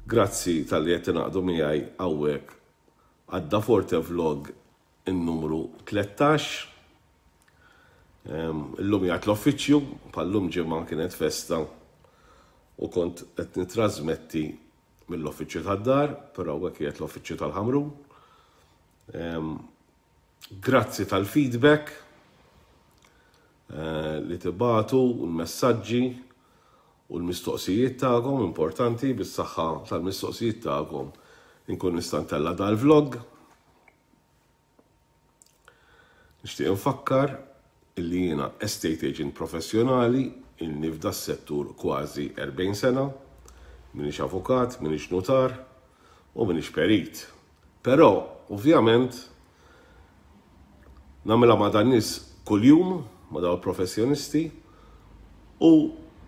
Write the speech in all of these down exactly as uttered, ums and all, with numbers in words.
Grazzi talli qed tingħaqdu miegħi hawnhekk għad-Da Forte Vlog in-numru tlettax. Illum qiegħed l-uffiċċju, bħal-lum ġimgħa kienet festa u kont qed nitrasmetti mill-uffiċċju tad-dar, però hawnhekk qiegħed l-uffiċċju tal-Ħamrun. Grazzi tal-feedback eh, li tibagħtu u l-messaġġi u l-mistoqsijiet tagħkom importanti. Bis-saħħa tal-mistoqsijiet tagħkom inkun nista' ntella' dal-vlog. Nixtieq infakkar illi jiena estate agent professjonali, ilni f'da settur kważi erbgħin sena, minix avukat, minix nutar u minix perit. Però, ovvjament, nagħmilha ma' dan nies kuljum, ma' dawn professjonisti, u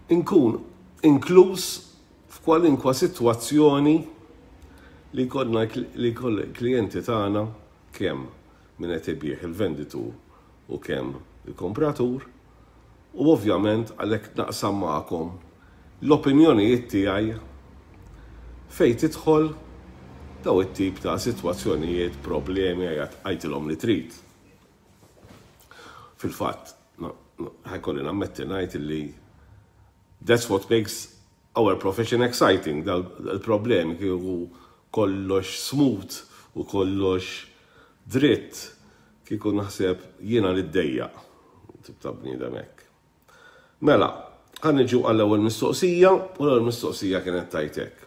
nkun inkluż f'kwalinkwa sitwazzjoni li jkollna li klijenti tagħna, kemm min qed ibigħ, il-venditur, u kemm il-kompratur, u ovvjament għalhekk naqsam magħkom l-opinjonijiet tiegħi fejn tidħol daw it-tip ta' sitwazzjonijiet, problemi, għidilhom li trid. Fil-fatt, ħa jkolli nammetti ngħid li that's what makes our profession exciting, dal-problemi. Kieku kollox smooth u kollox dritt, kieku naħseb jiena li ddejjaq, tip ta' bniedem hekk. Mela, ħa niġu għall-ewwel mistoqsija, u l-ewwel mistoqsija kienet tgħid hekk.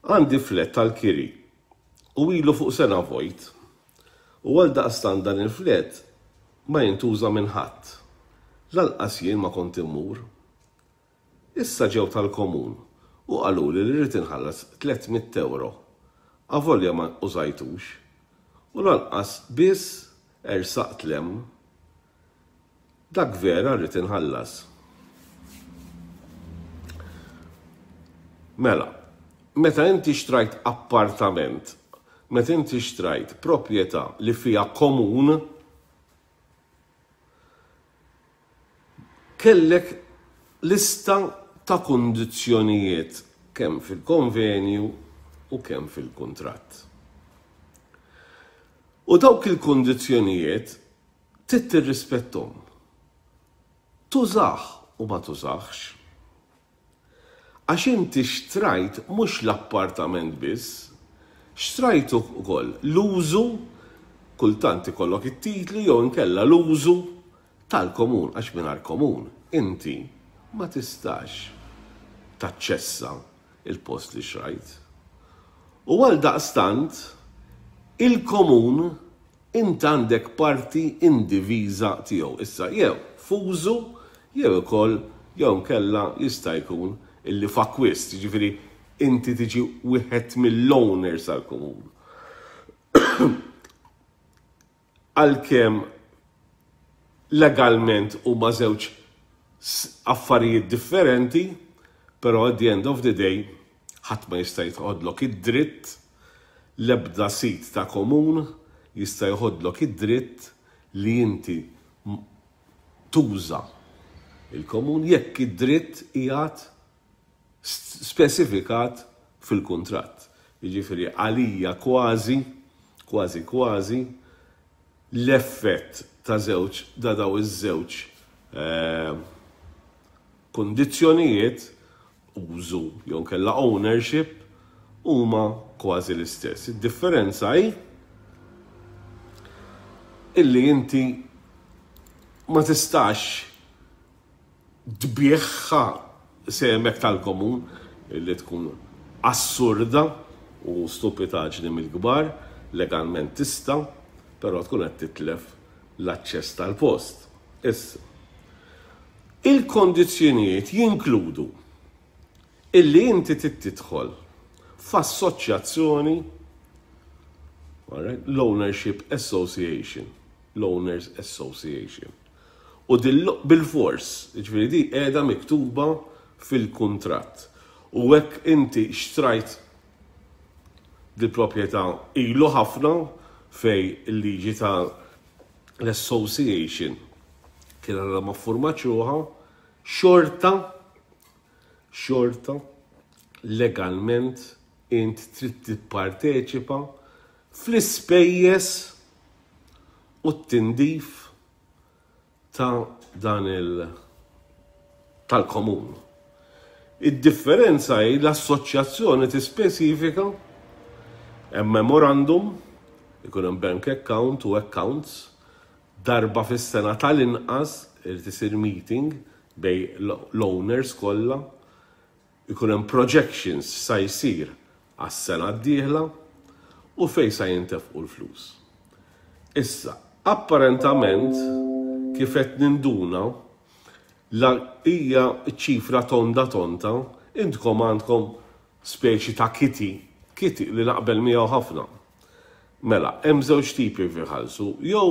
Għandi flat tal-kiri u ilu fuq sena vojt. U għal daqstan dan il-flat ma jintuża minn ħadd. Lanqas jien ma kont immur. Issa ġew tal-komun u qalu li rrid inħallas tliet mitt euro. Avolja ma użajtux. U lanqas biss ersaqt 'l hemm. Dak vera rrid inħallas? Mela, meta inti xtrajt appartament, meta inti xtrajt proprjetà li fija komun, kellek lista ta' kundizzjonijiet kemm fil-konvenju u kemm fil-kuntratt. U dawk il-kundizzjonijiet trid tirrispettom. Tużah u ma tużahx. Għax inti xtrajt mhux l-appartament biss, xtrajt ukoll l-użu, kultant ikollok it-titli jew inkella l-użu tal-komun, għax mingħajr komun inti ma tistax taċċessa il-post li xtrajt. U għal daqstant, il-komun int għandek parti indiviża tiegħu. Issa jew f'użu jew ukoll jew nkella jista' jkun illi f'akkwist, jiġifieri inti tiġi wieħed mill-owners tal-komun. Għalkemm legalment huma żewġ affarijiet differenti, però at the end of the day ħadd ma jista' jieħodlok id-dritt, l-ebda sit ta' komun jista' jieħodlok id-dritt li inti tuża il-komun jekk id-dritt qiegħed spesifikat fil-kuntratt. Jiġifieri għalija kważi, kważi kważi l-effett ta' żewġ da daw iż-żewġ eh, kundizzjonijiet, użu jew kella ownership, huma kważi l-istess. Id-differenza hi illi inti ma tistax tbigħha semek tal-komun, illi tkun assurda u stupitaġni mill-kbar, legalment tista', però tkun qed titlef l-aċċess tal-post. Issa, il-kondizzjonijiet jinkludu illi inti tidħol f'assoċjazzjoni, l-Ownership Association, l-Owners Association. U bil-fors, ġifieri di qiegħda miktuba fil-kuntratt. U hekk inti xtrajt di proprjetà ilu ħafna fej il-liġi ta' l-association kien għadha ma ffurmatx ruħha, xorta xorta Legalment int trid tipparteċipa fl-ispejjeż u t-tindif ta' dan il tal-komun. Id-differenza hi l-assoċjazzjoni tispeċifika, hemm memorandum, ikun hemm bank account u accounts, darba fis-sena tal-inqas irid isir meeting bejn l-owners kollha, ikun hemm projections sa jsir għas-sena d-dieħla u fejn sa jintefqu l-flus. Issa, apparentament, kif qed ninduna, la hija ċifra tonda tonta, intkom għandkom speċi ta' kitty, kitty li naqbel miegħu ħafna. Mela, hemm żewġ tipi fi ħalsu, jew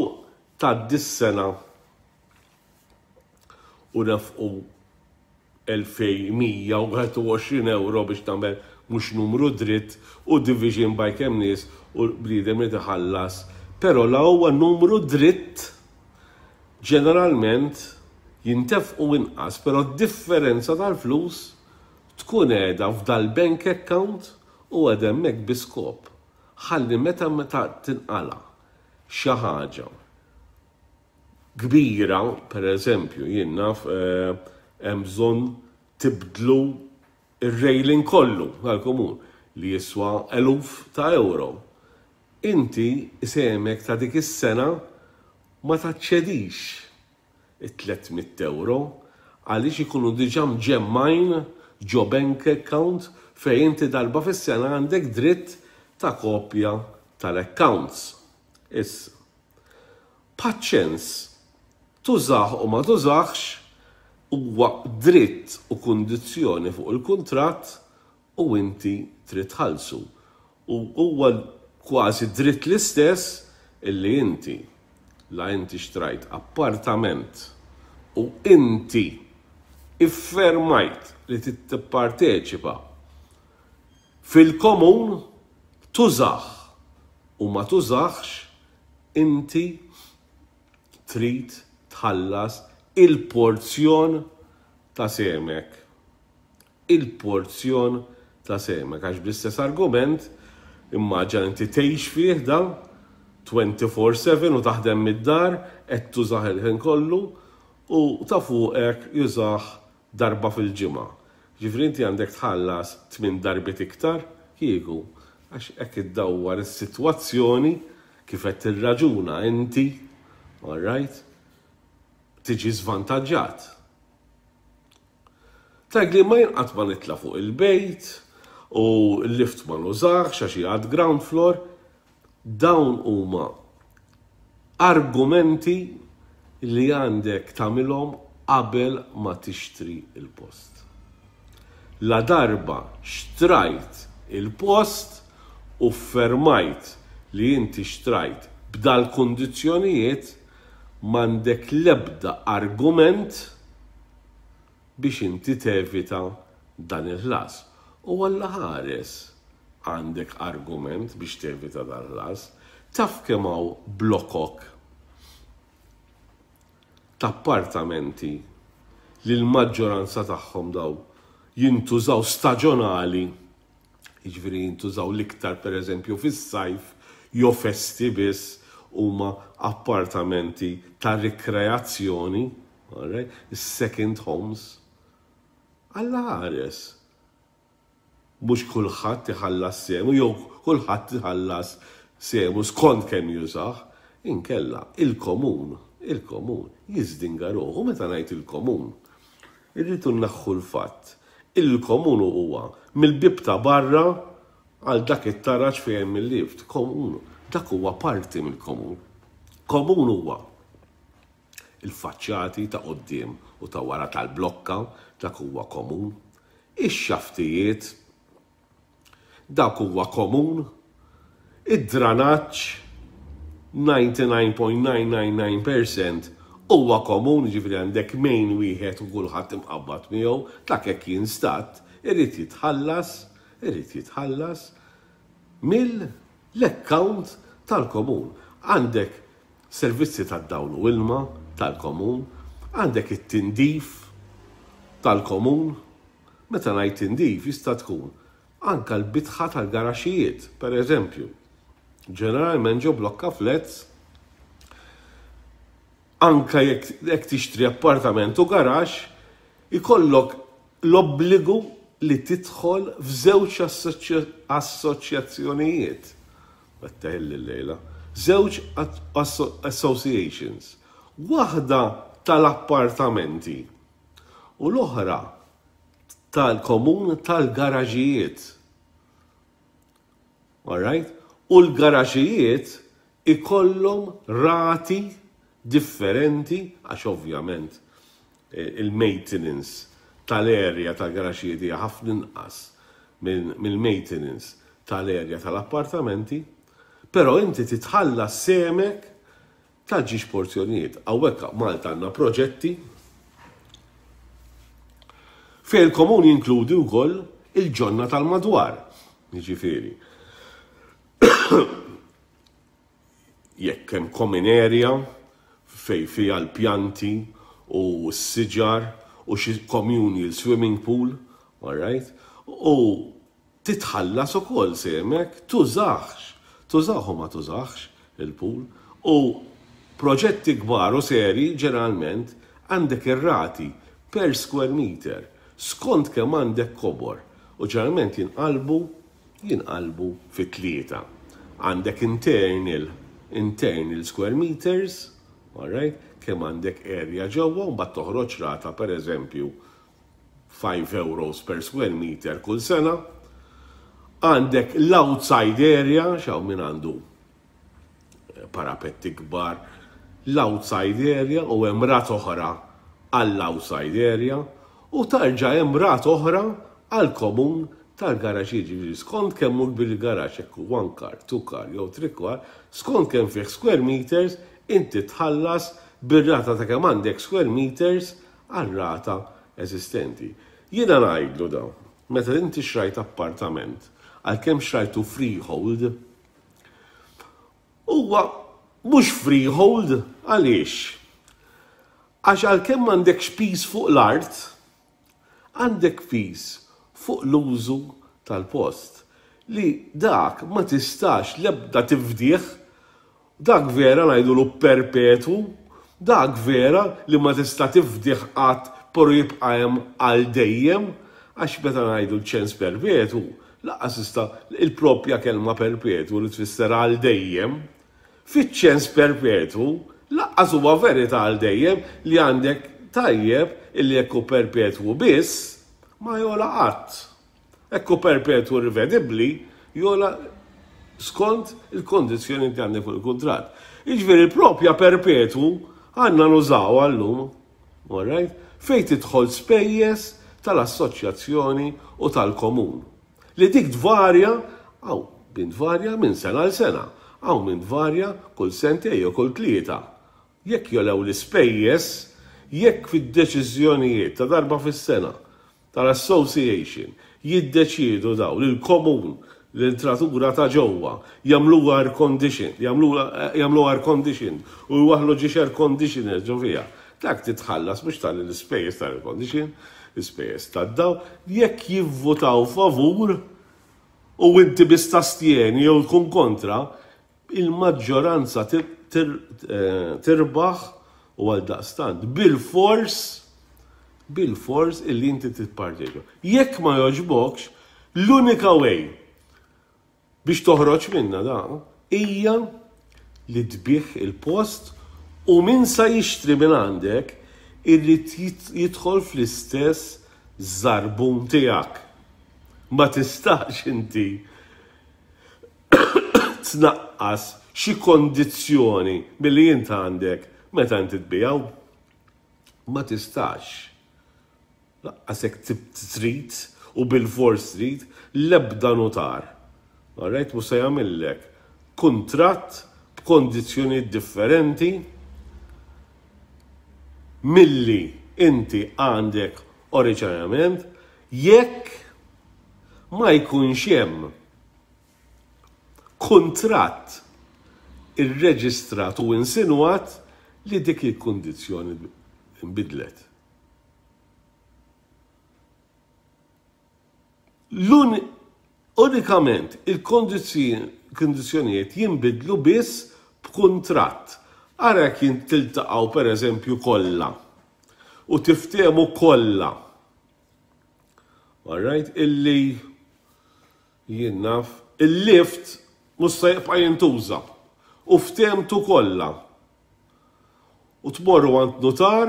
ta' dis-sena u nefqu elfejn u mija u wieħed u għoxrin euro biex tagħmel mhux numru dritt u division by kemm nies u bniedem li tħallas. Però la huwa numru dritt, ġeneralment jintefqu inqas, però differenza tal-flus tkun qiegħda f'dal-bank account u għad hemmhekk bi skop. Ħalli meta meta tinqala xi ħaġa kbira, per eżempju, jien naf, eh, hemm bżonn tibdlu ir-railing kollu tal-komun li jiswa eluf ta' euro. Inti semek ta' dik is-sena ma taċċedix it-tliet mitt euro għaliex ikunu diġà mġemmajn ġo bank account fejn inti darba fis-sena għandek dritt ta' kopja tal-accounts. Issa, paċens, tużah u ma tużax huwa dritt u kundizzjoni fuq il-kuntratt u inti trid tħallsu. U huwa kważi dritt l-istess illi inti la inti xtrajt appartament u inti iffermajt li tipparteċipa fil-komun, tużah u ma tużax, inti trid tħallas il-porzjon ta' semek. Il-porzjon ta' semek. Għax bl-istess argument, immaġina inti tgħix fih da twenty-four seven u taħdem mid-dar, qed tużah il-ħin kollu u ta' fuqek jużah darba fil-ġimgħa. Ġifieri inti għandek tħallas tmien darbiet iktar kieku, għax hekk iddawwar is-sitwazzjoni kif qed tirraġuna inti, all right, tiġi żvantaġġat. Tgħid li ma jinqat ma nitla fuq il-bejt u l-lift ma nużax għax għad ground floor, dawn huma argumenti li għandek tagħmilhom qabel ma tixtri il-post. La darba xtrajt il-post u fermajt li inti xtrajt b'dal kundizzjonijiet, m'għandek lebda argument biex inti tevita dan il-ħlas. U Alla ħares għandek argument biex tevita dan il-ħlas, taf kemm hawn blokok ta' appartamenti li l-maġġoranza tagħhom daw jintużaw staġjonali, jiġifieri jintużaw l-iktar, per eżempju, fis-sajf jew festi biss, huma appartamenti ta' rikreazzjoni, alright? Second homes. Alla ħares. Mhux kulħadd iħallas sehmu jew kulħadd iħallas sehmu skont kemm jużah, inkella il-komun, il-komun jiżdinga ruħu. Meta ngħid il-komun, irridu naħħu l-fatt. Il-komun huwa mill-bib ta' barra għal dak it-taraġ fejn hemm il-lift. Komun, dak huwa parti mill-komun. Komun huwa il-faċċati ta' quddiem u ta' wara tal-blokka, dak huwa komun. Ix-xaftijiet, dak huwa komun. Id-dranaġġ, disgħa u disgħin punt tmien tmien tmien fil-mija huwa komun, ġifieri għandek main wieħed u kulħadd imqabbad miegħu, dak hekk jinstat, irid jitħallas, irid jitħallas mill-account tal-komun. Għandek servizzi tad-dawl u ilma tal-komun, għandek it-tindif tal-komun. Meta ngħid tindif, jista' tkun Anka l-bitħa tal-garaxijiet, per eżempju. Ġeneralment ġo blokka flats, anka jekk tixtri appartament u garax, ikollok l-obbligu li tidħol f'żewġ assoċjazzjonijiet. Batteħil l-lejla. Żewġ associations. Waħda tal-appartamenti u l-oħra tal-komun tal-garaġijiet. Alright? U l-garaġijiet ikollhom rati differenti, għax ovvjament eh, il-maintenance tal-area tal-garaġijiet hija ħafna inqas mill-maintenance tal-area tal-appartamenti, però inti titħallas sehmek tal-ġiex porzjonijiet. Hawnhekk Malta għandna proġetti fejn il-komun jinkludi wkoll il-ġonna tal-madwar. Jiġifieri, jekk hemm common area fejn fiha l-pjanti u s-siġar u xi communal swimming pool, all right? U titħallas ukoll sehmek, tużax, tużax u ma tużax il-pool. U proġetti kbar u seri ġeneralment għandek ir-rati per square meter skont kemm għandek kobor u ġeneralment jinqalbu jinqalbu fi tlieta. Għandek internal internal square meters, all right, kemm għandek area ġewwa, u mbagħad toħroġ rata, per eżempju, five euros per square meter kull sena. Għandek l-outside area, xaw min għandu parapetti kbar, l-outside area, u hemm rata oħra għall-outside area u tarġa' hemm rata oħra għall-komun tal-garaxx. Jiġifieri skont kemm hu kbir il-garaxx, jekk one car, two car jew three car, skont kemm fih square meters, inti tħallas bir-rata ta' kemm għandek square meters għal-rata eżistenti. Jiena ngħidlu daw, meta inti xrajt appartament, għalkemm xrajtu freehold, huwa mhux freehold. Għaliex? Għax għalkemm m'għandekx piż fuq l-art, għandek piż fuq l-użu tal-post li dak ma tistax lebda tifdih, dak vera ngħidulu perpetu, dak vera li ma tista' tifdih qatt, però jibqa' hemm għal dejjem, għax meta ngħidu l-ċens perpetu, lanqas tista' il-propja kelma perpetu li tfisser għal dejjem, fiċ-ċens perpetu lanqas huwa verità għal dejjem li għandek tajjeb illi jekk hu perpetwu biss ma jogħla qatt. Jekk hu perpetwu rivedibbli, jogħla skont il-kondizzjoni li għandek fuq il-kuntratt. Jiġifieri il-propja perpetwu għandna nużaw għallum, alright? Fejn tidħol spejjeż tal-assoċjazzjoni u tal-komun. Li dik tvarja, għaw, bin tvarja minn sena għal sena, għaw minn tvarja kull sentej jew kull tlieta. Jekk jogħlew l-ispejjeż, jekk fid-deċiżjonijiet ta' darba fis-sena tal-association jiddeċiedu daw li l-komun, l-entratura ta' ġewwa jagħmluha air condition, jagħmluha air condition u jwaħlu ġiex air conditioner ġo fiha. Dak titħallas mhux tal l-ispejjeż tal-air condition, l-ispejjeż tad-daw, jekk jivvutaw favur u inti biss tastjeni jew tkun kontra, il-maġġoranza tirbaħ u għal daqstant bil-fors bil-fors illi inti titparteċipa. Jekk ma joġbokx, l-unika way biex toħroġ minna da hija li tbigħ il-post u min sa jixtri minn għandek irrid jidħol fl-istess żarbun tiegħek. Ma tistax inti tnaqqas xi kondizzjoni milli int għandek meta inti tbigħu. Ma tistax. Lanqas jekk trid u bil-fors trid, l-ebda notar. Alright, mhux se jagħmillek kuntratt b'kondizzjoni differenti milli inti għandek oriġinarjament jekk ma jkunx hemm kuntratt irreġistrat u insinwat li dik il-kundizzjoni nbidlet. L-un Unikament il-kondizzjonijiet jinbidlu biss b'kuntratt. Ara jekk jien tiltaqgħu, pereżempju, kollha u tiftehmu kollha. All right, illi jien naf il-lift mhux se jibqa' jintuża u ftehmtu kollha. U tmorru għand notar,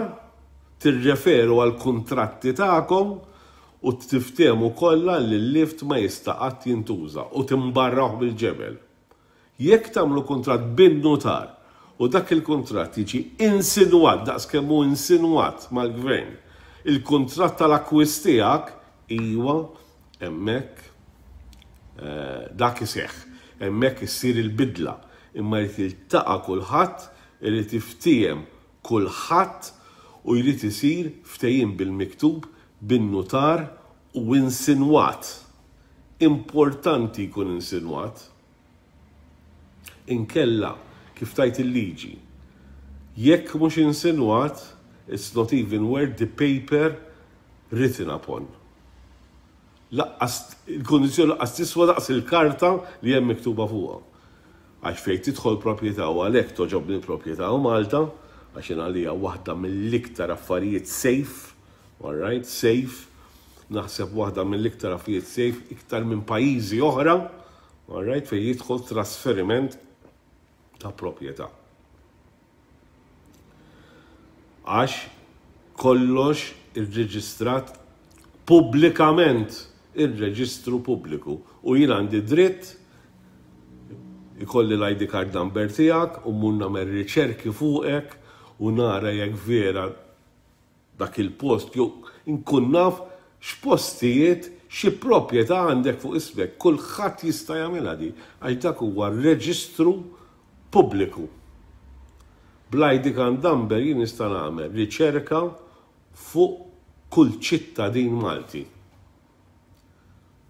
tirreferu għal kuntratti tagħkom u tiftehmu kollha li l-lift ma jista' qatt jintuża u timbarraw bil-ġebel. Jekk tagħmlu kuntratt bin-notar u dak il-kuntratt jiġi insinwat daqs kemm hu insinwat mal-gvern, il-kuntratt tal-akkwist tiegħek, iwa, hemmhekk eh, dak iseħħ, hemmhekk issir il-bidla, imma jrid jiltaqa' kulħadd, irid jiftiehem kulħadd u jrid isir ftehim bil-miktub bin-notar u insinwat. Importanti jkun insinwat. Inkella, kif tgħid il-liġi, jekk mhux insinwat, it's not even worth the paper written upon. Lanqas, il-kondizjoni lanqas tiswa daqs il-karta li hemm miktuba fuqha. Għax fejn tidħol proprjetà, u għalhekk togħġobni l-proprjetà u Malta, għax jien għalija waħda mill-iktar affarijiet safe, all right, safe, naħseb waħda mill-iktar affarijiet safe iktar minn pajjiżi oħra, all right, fejn jidħol trasferiment ta' proprjetà. Għax kollox irreġistrat pubblikament, ir-reġistru pubbliku, u jien għandi dritt ikolli l-I D card number tiegħek u mmur nagħmel riċerki fuqek u nara jekk vera dak il-post, jew inkun naf x'postijiet, xi proprjetà għandek fuq ismek. Kulħadd jista' jagħmilha di, għax dak huwa reġistru pubbliku. Bl-I D card number jien nista' nagħmel riċerka fuq kull ċittadin Malti.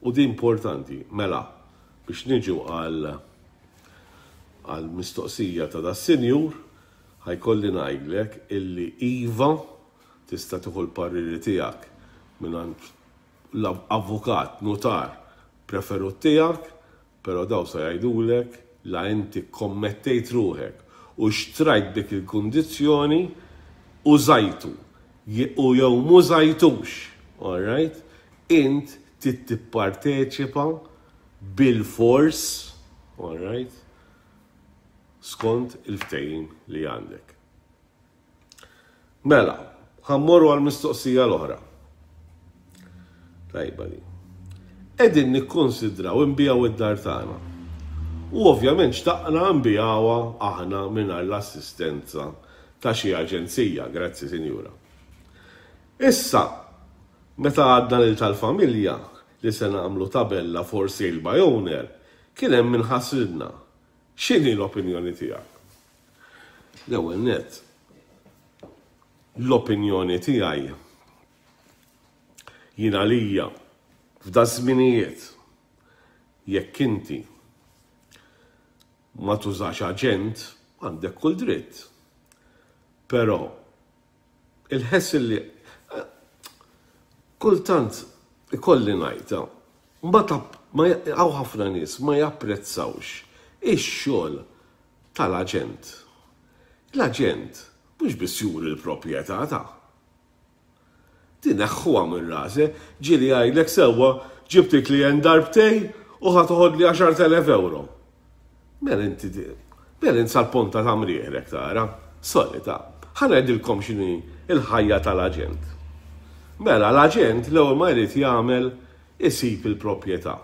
U di importanti, mela, biex niġu għal għal mistoqsija ta' das-sinjur, ħa jkolli ngħidlek illi iva, tista' tieħu l-pariri tiegħek minn l-avukat, notar preferut tiegħek, però daw sa jgħidulek la inti kommettejt ruħek u xtrajt dik il-kundizzjoni, użajtu u jew m'użajtux, all right? Int trid tipparteċipa bil-fors, all right? Skont il-ftehim li għandek. Mela, ħa mmorru għal-mistoqsija l-oħra. Tajba di. Qegħdin nikkonsidraw inbigħu id-dar tagħna. U ovvjament xtaqna nbigħuha aħna mingħajr l-assistenza ta' xi aġenzija, grazzi, sinjura. Issa, meta għadna lil tal-familja li se nagħmlu tabella for sale by owner, kien hemm min ħasridna. X'inhi l-opinjoni tiegħek? L-ewwel net, l-opinjoni tiegħi, jien għalija f'da żminijiet, jekk inti ma tużax aġent, għandek kull dritt. Però il-ħess li kultant ikolli ngħidha, ma ma hawn ħafna nies ma japprezzawx ix-xogħol tal-aġent. L-aġent mhux biss juri l-proprjetà ta' Tineħħuha minn rasi, ġieli jgħidlek, "Sewwa, ġibt il-klient darbtejn u ħa toħodli għaxart elef euro." Mela inti, mela int sal-ponta ta' mrieħlek tara, solita. Ħa ngħidilkom x'inhi il-ħajja tal-aġent. Mela l-aġent l-ewwel ma jrid jagħmel, isib il-proprjetà.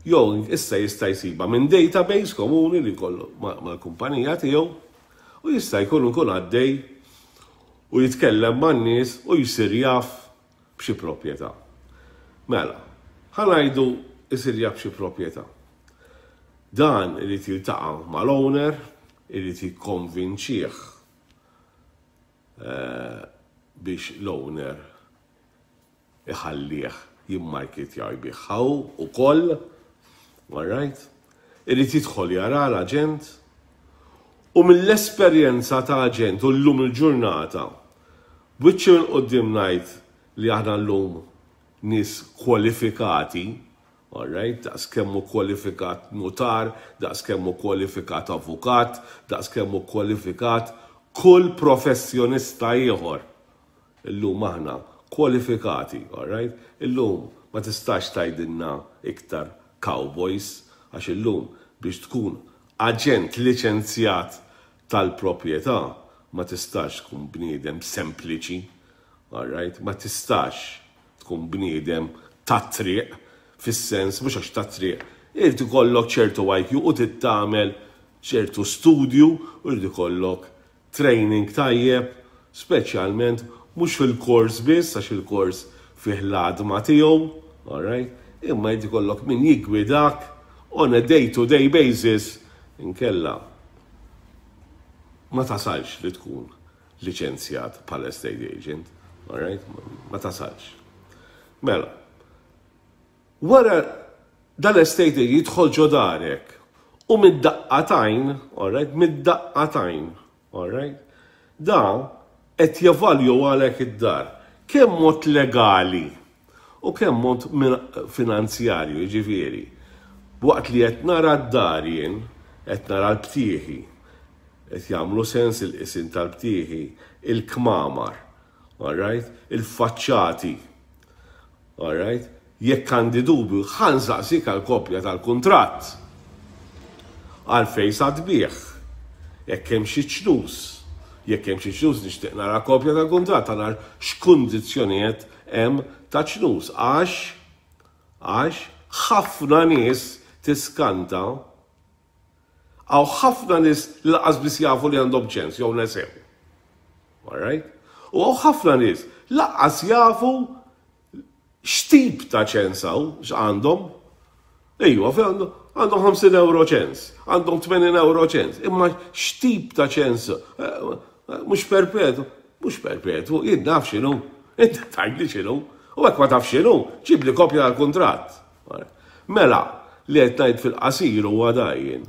Jew issa jista' jsibha minn database komuni li kollu mal-kumpanija tiegħu u jista' jkun ikun għaddej u jitkellem man-nies u jsir jaf b'xi proprjetà. Mela, ħa ngħidu jsir jaf b'xi proprjetà. Dan irid jiltaqa' mal-owner, irid jikkonvinċih eh, biex l-owner iħallih jimmarketja jbigħha ukoll, all right? Irid jidħol jara l-aġent u mill-esperjenza ta' aġent u llum il-ġurnata, b'wiċċi minn quddiem ngħid li aħna llum nies kwalifikati. Alright, daqs kemm hu kwalifikat notar, daqs kemm hu kwalifikat avukat, daqs kemm hu kwalifikat kull professjonista ieħor. Illum aħna kwalifikati, alright? Illum ma tistax tgħidilna iktar cowboys, għax illum biex tkun aġent liċenzjat tal-proprjetà ma tistax tkun bniedem sempliċi, alright? Ma tistax tkun bniedem tat-triq, fis-sens mhux għax tat-triq, irid ikollok ċertu I Q u trid tagħmel ċertu studju u jrid ikollok training tajjeb, speċjalment mhux fil-kors biss, għax il-kors fih l-għadma tiegħu, alright? Imma jrid ikollok min jiggwidak on a day-to-day basis, inkella ma tasalx li tkun liċenzjat bħala estate agent, alright? Ma tasalx. Mela, wara dal-estate agent jidħol ġo darek u mid-daqqa t'għajn, alright, mid-daqqa t'għajn, alright, da qed jevalwalek id-dar. Kemm mod legali u kemm mod finanzjarju, ġifieri. Waqt li qed nara d-dar jien, qed nara l-btieħi, qed jagħmlu sens il-qisien tal-btieħi, il-kmamar, alright, il-faċċati, alright, jekk għandi dubju, ħa nsaqsik għal kopja tal-kuntratt. Għalfejn sa tbigħ. Jekk hemm xi ċnus. Jekk hemm xi ċnus, nixtieq nara kopja tal-kuntratt, nara x'kundizzjonijiet hemm ta' ċnus. Għax għax ħafna nies tiskanta, hawn ħafna nies li lanqas biss jafu li għandhom ċens jew nesew. Alright? U hawn ħafna nies lanqas jafu x'tip ta' ċens hawn x'għandhom. Ejwa, fi għandhom għandhom ħamsin euro ċens, għandhom tmenin euro ċens, imma x'tip ta' ċens, eh, eh, mhux perpetu, mhux perpetu, jien naf x'inhu, inti tgħidli x'inhu, u hekk ma taf x'inhu, ġib li kopja tal-kuntratt. Mela, li qed ngħid fil-qasir huwa dajjin.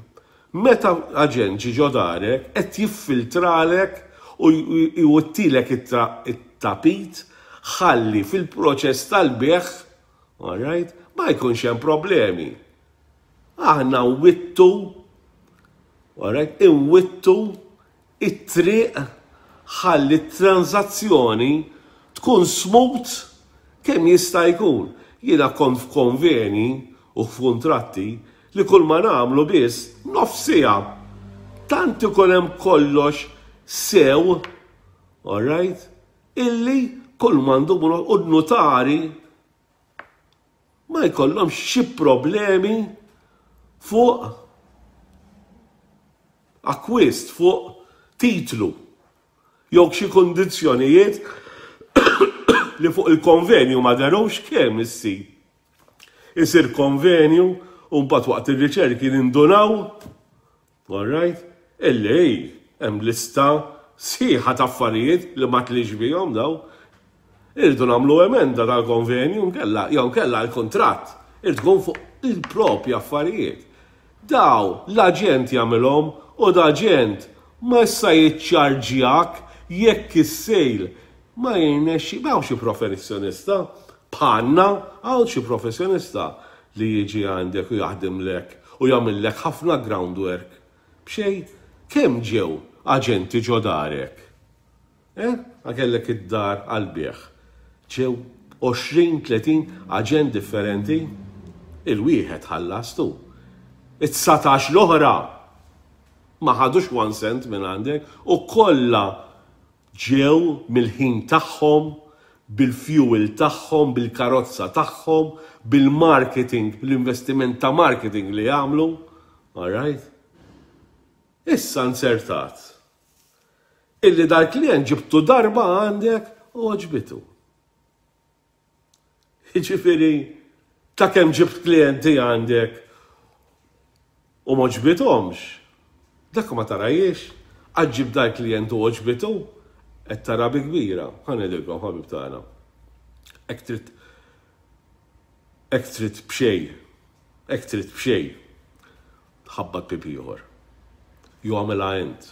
Meta aġent ġi ġo darek, qed jiffiltralek u jwittilek it-tapit ħalli fil-proċess tal-bejgħ, alright, ma jkunx hemm problemi. Aħna nwittu, alright, inwittu it-triq ħalli t-transazzjoni tkun smooth kemm jista' jkun. Jiena kont f'konveni u f'kuntratti li kull ma nagħmlu biss nofs siegħa. Tant ikun hemm kollox sew, alright, illi kull m'għandu u n-notari ma jkollhomx xi problemi fuq akkwist, fuq titlu, jew xi kondizzjonijiet li fuq il-konvenju ma derux. Kemm issir isir konvenju u mbagħad waqt ir-riċerki nindunaw, all right, illi hemm lista sħiħa ta' affarijiet li ma tlix bihom daw. Irridu nagħmlu emenda tal-konvenju nkella jew nkella l-kuntratt irid tkun fuq il-propji affarijiet. Daw l-aġent jagħmilhom u l-aġent ma issa jiċċarġjak jekk is-sale ma jirnexxi. M'hawn xi professjonista bħalna, hawn xi professjonista li jiġi għandek u jaħdimlek u jagħmillek ħafna groundwork b'xejn? Kemm ġew aġenti ġo darek? Eh? Kellek id-dar għal-bejgħ. Ġew għoxrin, tletin aġent differenti, il-wieħed ħallastu. It-dsatax l-oħra ma ħadux one cent minn għandek u kollha ġew mill-ħin tagħhom, bil-fuel tagħhom, bil-karozza tagħhom, bil-marketing, l-investiment ta' marketing li jagħmlu. All right? Issa nsertat illi dal-klient ġibtu darba għandek u għoġbitu. Jiġifieri, ta' kemm ġibt klienti għandek u m'għoġbithomx, dak ma tarajiex, għax ġib dal-klient u għoġbitu, qed tara bi kbira. Ħa ngħidilkom, ħabib tagħna. Hekk trid hekk trid b'xejn, hekk trid b'xejn, ħabbat bieb ieħor. Jew għamilha int.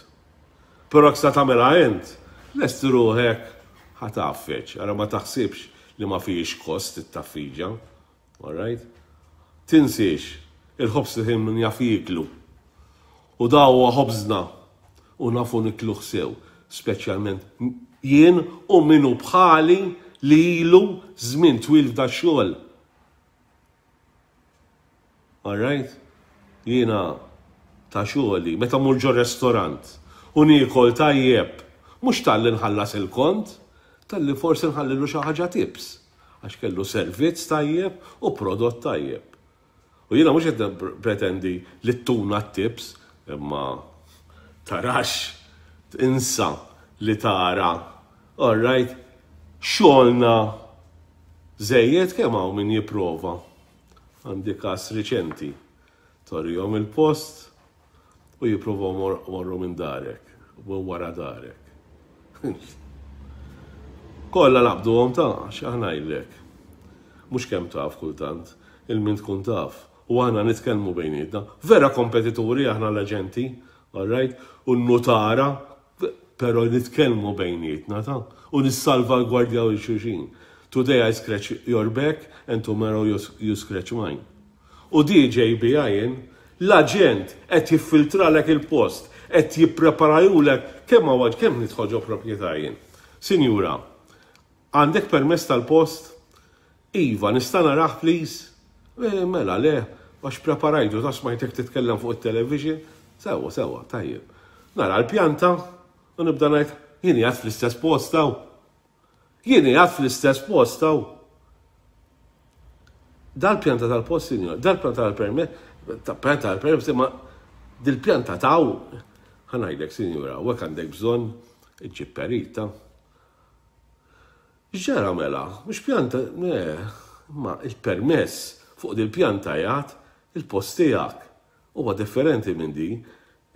Però jekk sa tagħmilha int, lesti ruħek ħa tgħaffeġ, ara ma taħsibx li ma fihx kost it-tgħaffiġa. All right? Tinsiex, il-ħobż li min jaf jieklu. U da huwa ħobżna u nafu nikluh sew, speċjalment jien u min hu bħali li ilu żmien twil f'da xogħol. All right? Jiena ta' xogħli, meta mur ġo restorant u niekol tajjeb, mhux talli nħallas il-kont, talli forsi nħallilu xi ħaġa tips, għax kellu servizz tajjeb u prodott tajjeb. U jiena mhux qed pretendi li tuna tips, imma tarax insa li tara. All right, xogħolna żejjed kemm hawn min jipprova. Għandi każ riċenti. Turihom il-post u jipprovaw morru minn darek, u wara darek. Kollha naqbduhom ta' x'aħna jillek. Mhux kemm taf kultant, il-min tkun taf. U aħna nitkellmu bejnietna. Vera kompetituri aħna l-aġenti, all right? U n-nutara, pero nitkellmu bejnietna ta' u nissalvagwardjaw lil xulxin. Today I scratch your back and tomorrow you, you scratch mine. U D J B I N, l-aġent qed jiffiltralek il-post, qed jippreparajulek kemm għawad kemm nidħol ġo proprjetà jien. Sinjura, għandek permess tal-post? Iva, nista' narah, please? E, mela, le, għax preparajtu, ta' smajtek titkellem fuq il-television. Sewa, sewa, tajjeb. Nara l-pjanta u nibda ngħid, jien qiegħed fl-istess post hawn. Jien qiegħed fl-istess post hawn. Dal-pjanta tal-post, sinjor, dal-pjanta tal-permess, pjanta tal-permess, ma dil-pjanta taw, ħa ngħidlek, sinjura, u għandek bżonn iġġib perita. Ġara mela, mhux pjanta, ne, ma il-permess fuq dil-pjanta jgħat il-post tiegħek. Huwa differenti minn di.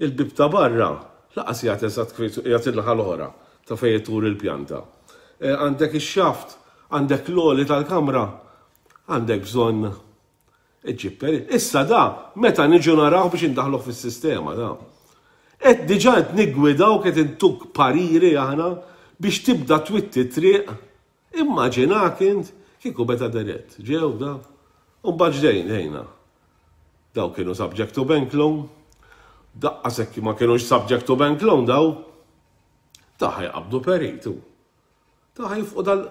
Il-bib ta' barra, lanqas jgħat eżatt jgħat il-naħa l-oħra ta' fejn tur il-pjanta. E, għandek ix-xaft, għandek l-għoli tal-kamra, għandek bżonn iġġib perit. Issa da, meta niġu naraw biex indaħlu fis-sistema da. Et diġà qed niggwidaw, qed intuk pariri aħna biex tibda twitti triq. Immaġinak int kieku beta dirett. Ġew da. U mbagħad ġdejn ħejna. Daw kienu subject to bank loan. Daqqa sekki ma kienux subject to bank loan daw. Ta' ħajqabdu peritu. Ta' ħajfqu dal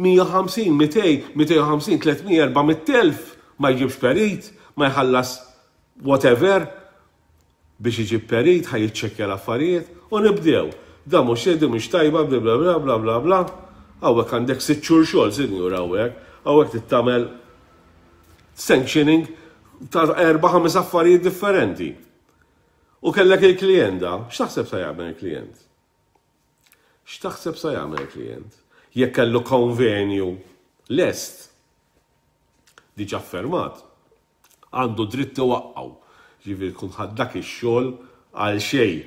mija u ħamsin, mitejn, mitejn u ħamsin, tliet mija, erba' mitt elf ma jġibx perit, ma jħallas whatever biex iġib perit, ħa jiċċekkja l-affarijiet u nibdew. Da mhux xedi, mhux tajba, bla bla bla bla bla bla. Hawnhekk għandek sitt xhur xogħol, sinjur, hawnhekk. Hawnhekk tittamel sanctioning ta' erba' ħames affarijiet differenti. U kellek il-klijent da, x'taħseb sa jagħmel il-klijent? X'taħseb sa jagħmel il-klijent? Jekk kellu konvenju lest, diġà fermat, għandu dritt iwaqqgħu. Ġifieri tkun ħadd dak ix-xogħol għal xejn.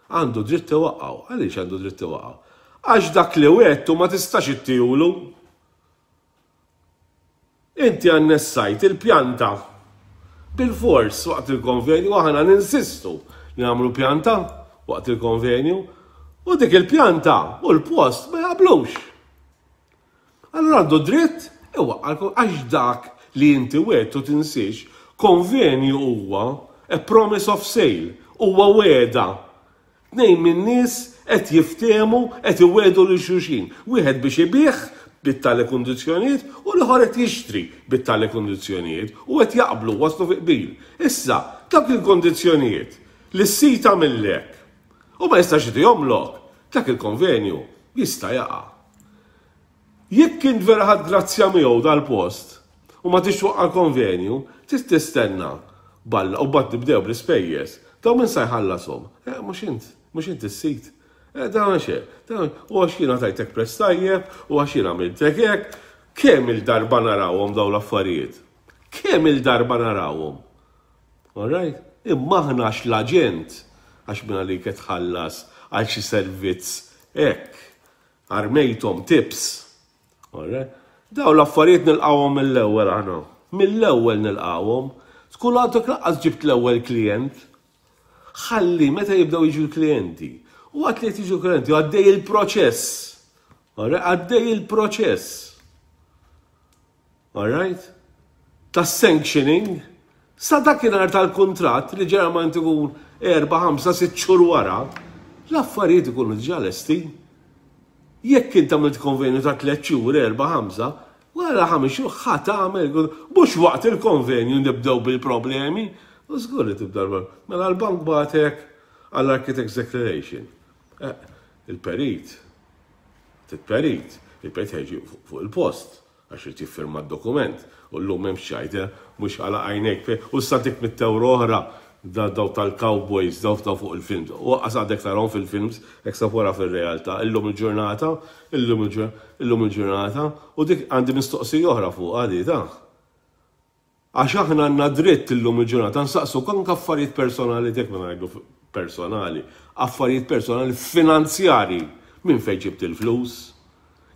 Għandu dritt iwaqqgħu. Għaliex għandu dritt iwaqqgħu? Għax dak li wettu ma tistax ittihulu. Inti annessajt il-pjanta bil-fors waqt il-konvenju, aħna ninsistu li nagħmlu pjanta waqt il-konvenju, u dik il-pjanta u l-post ma jaqblux. Allora għandu dritt iwaqqalkom għax dak li inti wettu, tinsiex, konvenju huwa a promise of sale, huwa wegħda. Tnejn minn nies qed jiftehmu, qed iwegħdu lil xulxin. Wieħed biex ibigħ bit-tali kundizzjonijiet u l-ieħor qed jixtri bit-tali kundizzjonijiet u qed jaqblu, waslu fi qbil. Issa, dak il-kondizzjonijiet li s-sid għamillek u ma jistax jomlok, dak il-konvenju jista' jaqa'. Jekk kien vera ħadd grazzja miegħu dal-post u ma tix twaqqa' l-konvenju, tista' tistenna balla u mbagħad nibdew bl-ispejjeż. Daw min sa jħallashom? Eh, mhux int, mhux int is-sid. Eh, da xe, u għax jiena tajtek prezz tajjeb, u għax jiena għamiltek hekk, kemm il-darba narawhom daw l-affarijiet? Kemm il-darba narawhom? All right? Imma aħna għax l-aġent, għax minn għalik qed tħallas għal xi servizz hekk, armejthom tips. All right? Daw l-affarijiet nilqawhom mill-ewwel aħna. Mill-ewwel nilqawhom. Tkun għadek lanqas ġibt l-ewwel klient. Ħalli meta jibdew jiġu l-klijenti. U għat li jiġu klienti, għaddej il-proċess. Għaddej il-proċess. All right? tas-sanctioning sa dakinhar tal-kuntratt li ġeneralment ikun erba', ħamsa, sitt xhur wara, l-affarijiet ikunu diġà lesti. Jekk int għamilt konvenju ta' tliet xhur, erba', ħamsa, wara ħames xhur ħa tagħmel, mhux waqt il-konvenju nibdew bil-problemi, u żgur li tibda l Mela l-bank bagħtek għall-Architect's Declaration. Eh, il-perit, il-perit, il-perit ħa jiġi fuq il-post għax irid jiffirma d-dokument u llum m'hemmx ċajta, mhux għala għajnejk, u statik mitt ewro oħra daw tal-cowboys, daw daw fuq il-films. U għas għadek tarahom fil-films, eksa wara fil-realtà. Illum il-ġurnata, illum il-ġurnata, u dik għandi mistoqsija oħra fuq għadi ta' għax aħna għandna dritt illum il-ġurnata nsaqsu anke affarijiet personali tek ma ngħidu personali, affarijiet personali finanzjari minn fejn ġibt il-flus.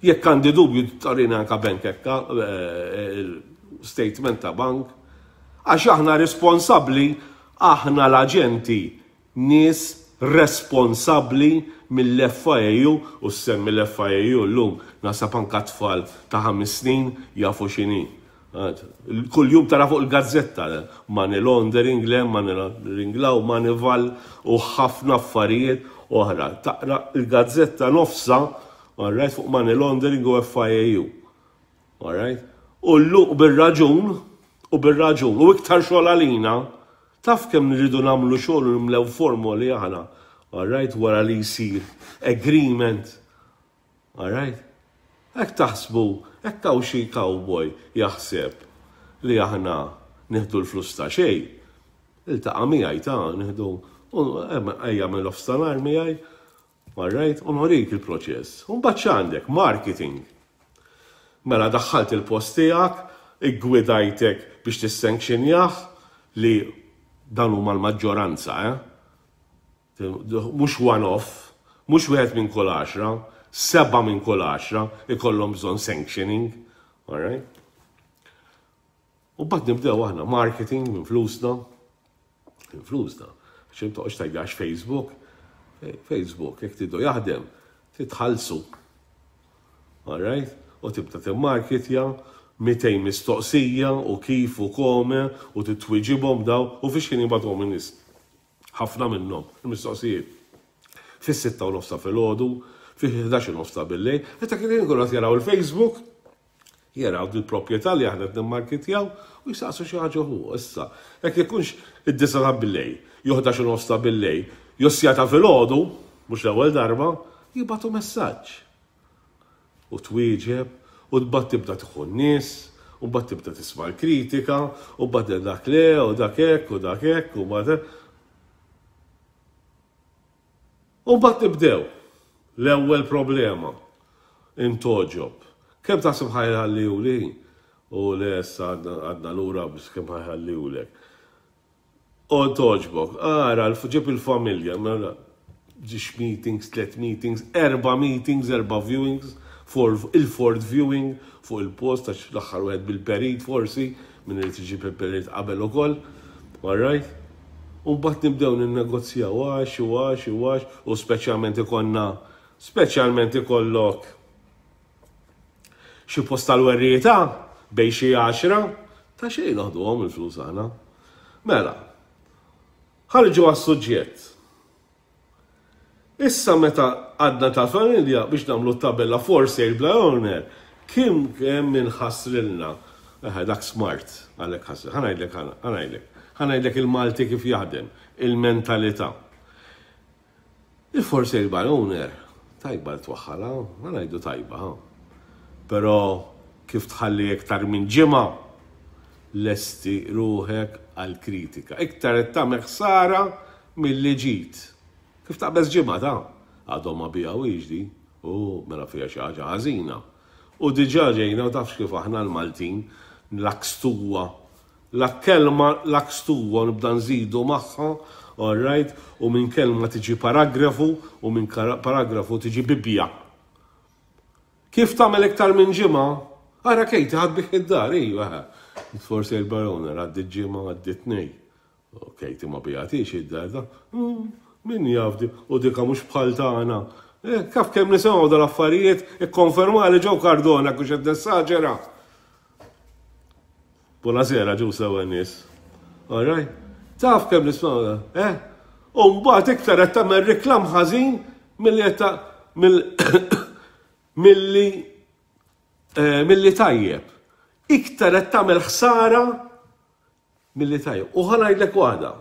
Jekk għandi dubju tarina anka bank ekka, eh, statement ta' bank. Għax aħna responsabbli, aħna l-aġenti nies responsabbli mill-F I A U u semmi l-F I A U llum nasab anka tfal ta' ħames snin jafu x'inhi. Kull jum tara fuq il-gazzetta, money laundering, le, money laundering law, Moneyval u ħafna affarijiet oħra. Taqra il-gazzetta nofsa, alright, fuq money laundering u F I A U. Alright? U l-luq bil-raġun, u bil-raġun, u iktar xogħol għalina, taf kemm nridu nagħmlu xogħol u nimlew formoli aħna, alright, wara li jsir agreement. Alright? Hekk taħsbu, hekk hawn xi cowboy jaħseb li aħna nieħdu l-flus ta' xejn. Iltaqa' miegħi ta' nieħdu ejja mill nofstanhar miegħi, alright, u norik il-proċess. U mbagħad x'għandek? Marketing. Mela daħħalt il-post tiegħek, iggwidajtek biex tissanctionjah li dan huma l-maġġoranza, eh? Mhux one-off, mhux wieħed minn kull għaxra, seba' minn kull għaxra ikollhom bżonn sanctioning, all right? U mbagħad nibdew aħna marketing minn flusna, minn flusna. Xim toqgħodx tgħidx Facebook, Facebook jekk tridu jaħdem, titħallsu. All right? U tibda timmarketja, mitejn mistoqsija u kif u kome u titwiġibhom daw u fiex kien jibgħatuhom in-nies. Ħafna minnhom il-mistoqsijiet. Fis-sitta u nofsa filgħodu, fi ħdax u nofsa bil-lejl, meta kien jkunu qed jaraw il-Facebook, jaraw il-proprjetà li aħna qed nimmarketjaw u jisaqsu xi ħaġa hu. Issa, jekk ikunx id-disgħa ta' bil-lejl, jew ħdax u nofsa bil-lejl, jew siegħa filgħodu, mhux l-ewwel darba, jibgħatu messaġġ. U twieġeb, u tbagħad tibda tieħu n-nies, u mbagħad tibda tisma' l-kritika, u mbagħad dak le, u dak hekk, u dak hekk, u mbagħad. U mbagħad nibdew. L-ewwel problema. Intogħġob. Kemm taħseb ħa jħalluli? U le issa għadna lura biex kemm ħa jħallulek. U togħġbok, ara, ġib il-familja, mela, żewġ meetings, tlet meetings, erba meetings, erba viewings, for il-fourth viewing fuq il-post, għax l-aħħar wieħed bil-perit forsi, minn irid iġib il-perit qabel ukoll. All right? U mbagħad nibdew ninnegozjaw għax u għax u għax u speċjalment ikollna speċjalment ikollok xi post tal-werrieta bejn xi għaxra ta' xejn noħduhom il-flus aħna. Mela, ħarġu għas-suġġett. Issa meta għadna tal-familja biex nagħmlu tabella for sale by owner, kim kemm minn ħasrilna. Eħe, dak smart, għalek ħasri. Ħa ngħidlek, ħa ngħidlek. Ħa ngħidlek il-Malti kif jaħdem, il-mentalità. Il-for sale by owner, tajba twaħħala, ħa ngħidu tajba, ha. Però kif tħalli iktar minn ġimgħa, lesti ruħek għal-kritika. Iktar qed tagħmel ħsara milli ġid. Kif taqbeż ġimgħa ta' għadhom ma biegħux di, u mela fiha xi ħaġa ħażina. U diġà ġejna u tafx kif aħna l-Maltin lakstuwa. La kelma lakstuwa nibda nżidu magħha, all right, u minn kelma tiġi paragrafu u minn paragrafu tiġi bibja. Kif tagħmel iktar minn ġimgħa? Ara Katie ħa tbigħ id-dar, ejwa. For sale by owner, għaddi ġimgħa, għaddi tnej. Katie ma biegħetx id-dar da. Hmm, min jaf di, u dika mhux bħal tagħna. Eh, kaf kemm nisimgħu dal-affarijiet, ikkonferma li ġew Cardona kux qed nessaġera. Buonasera, ġu sewa nies. All right? Taf kemm nisma', eh? U mbagħad iktar qed tagħmel reklam ħażin milli qed milli eh, milli tajjeb. Iktar qed tagħmel ħsara milli tajjeb. U ħa ngħidlek waħda.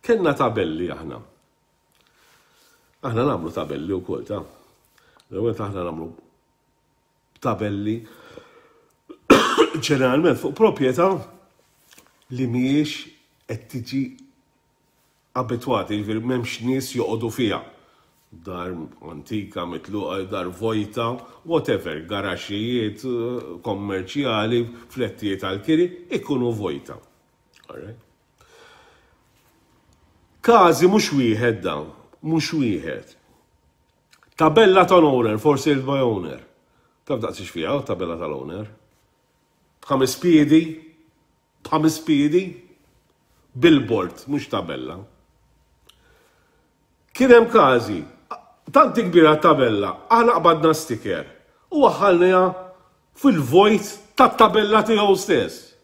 Kellna tabelli aħna. Aħna nagħmlu tabelli wkoll ta' L-ewwel aħna nagħmlu tabelli ġeneralment fuq proprjetà li mhijiex qed tiġi abitwati, jiġifieri m'hemmx nies joqogħdu fiha. Dar antika, mitluqa, dar vojta, whatever, garaxxijiet, kommerċjali, flettijiet għal-kiri, ikunu vojta. Alright? Każi mhux wieħed dawn, mhux wieħed. Tabella tal-owner, for sale by owner. Taf daqs fiha tabella tal-owner? Ħames piedi, ħames piedi, billboard, mhux tabella. Kien hemm każi, tant kbira tabella, aħna qbadna sticker u waħħalniha fil-vojt tat-tabella tiegħu stess.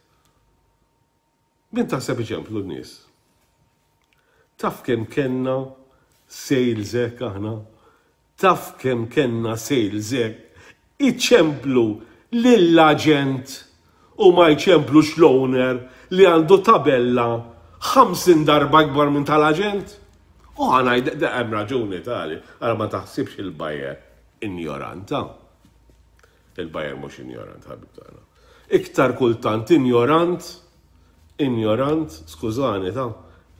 Min taħseb iċemplu n-nies? Taf kemm kellna sales hekk aħna? Taf kemm kellna sales hekk? Iċemplu lill-aġent u ma jċemplux l-owner li għandu tabella ħamsin darba akbar minn tal-aġent? U ħa ngħid, hemm raġuni tali, għara ma taħsibx il-buyer injoranta. Il-buyer mhux injorant, ħabib tagħna. Iktar kultant injorant, injorant, skużani ta'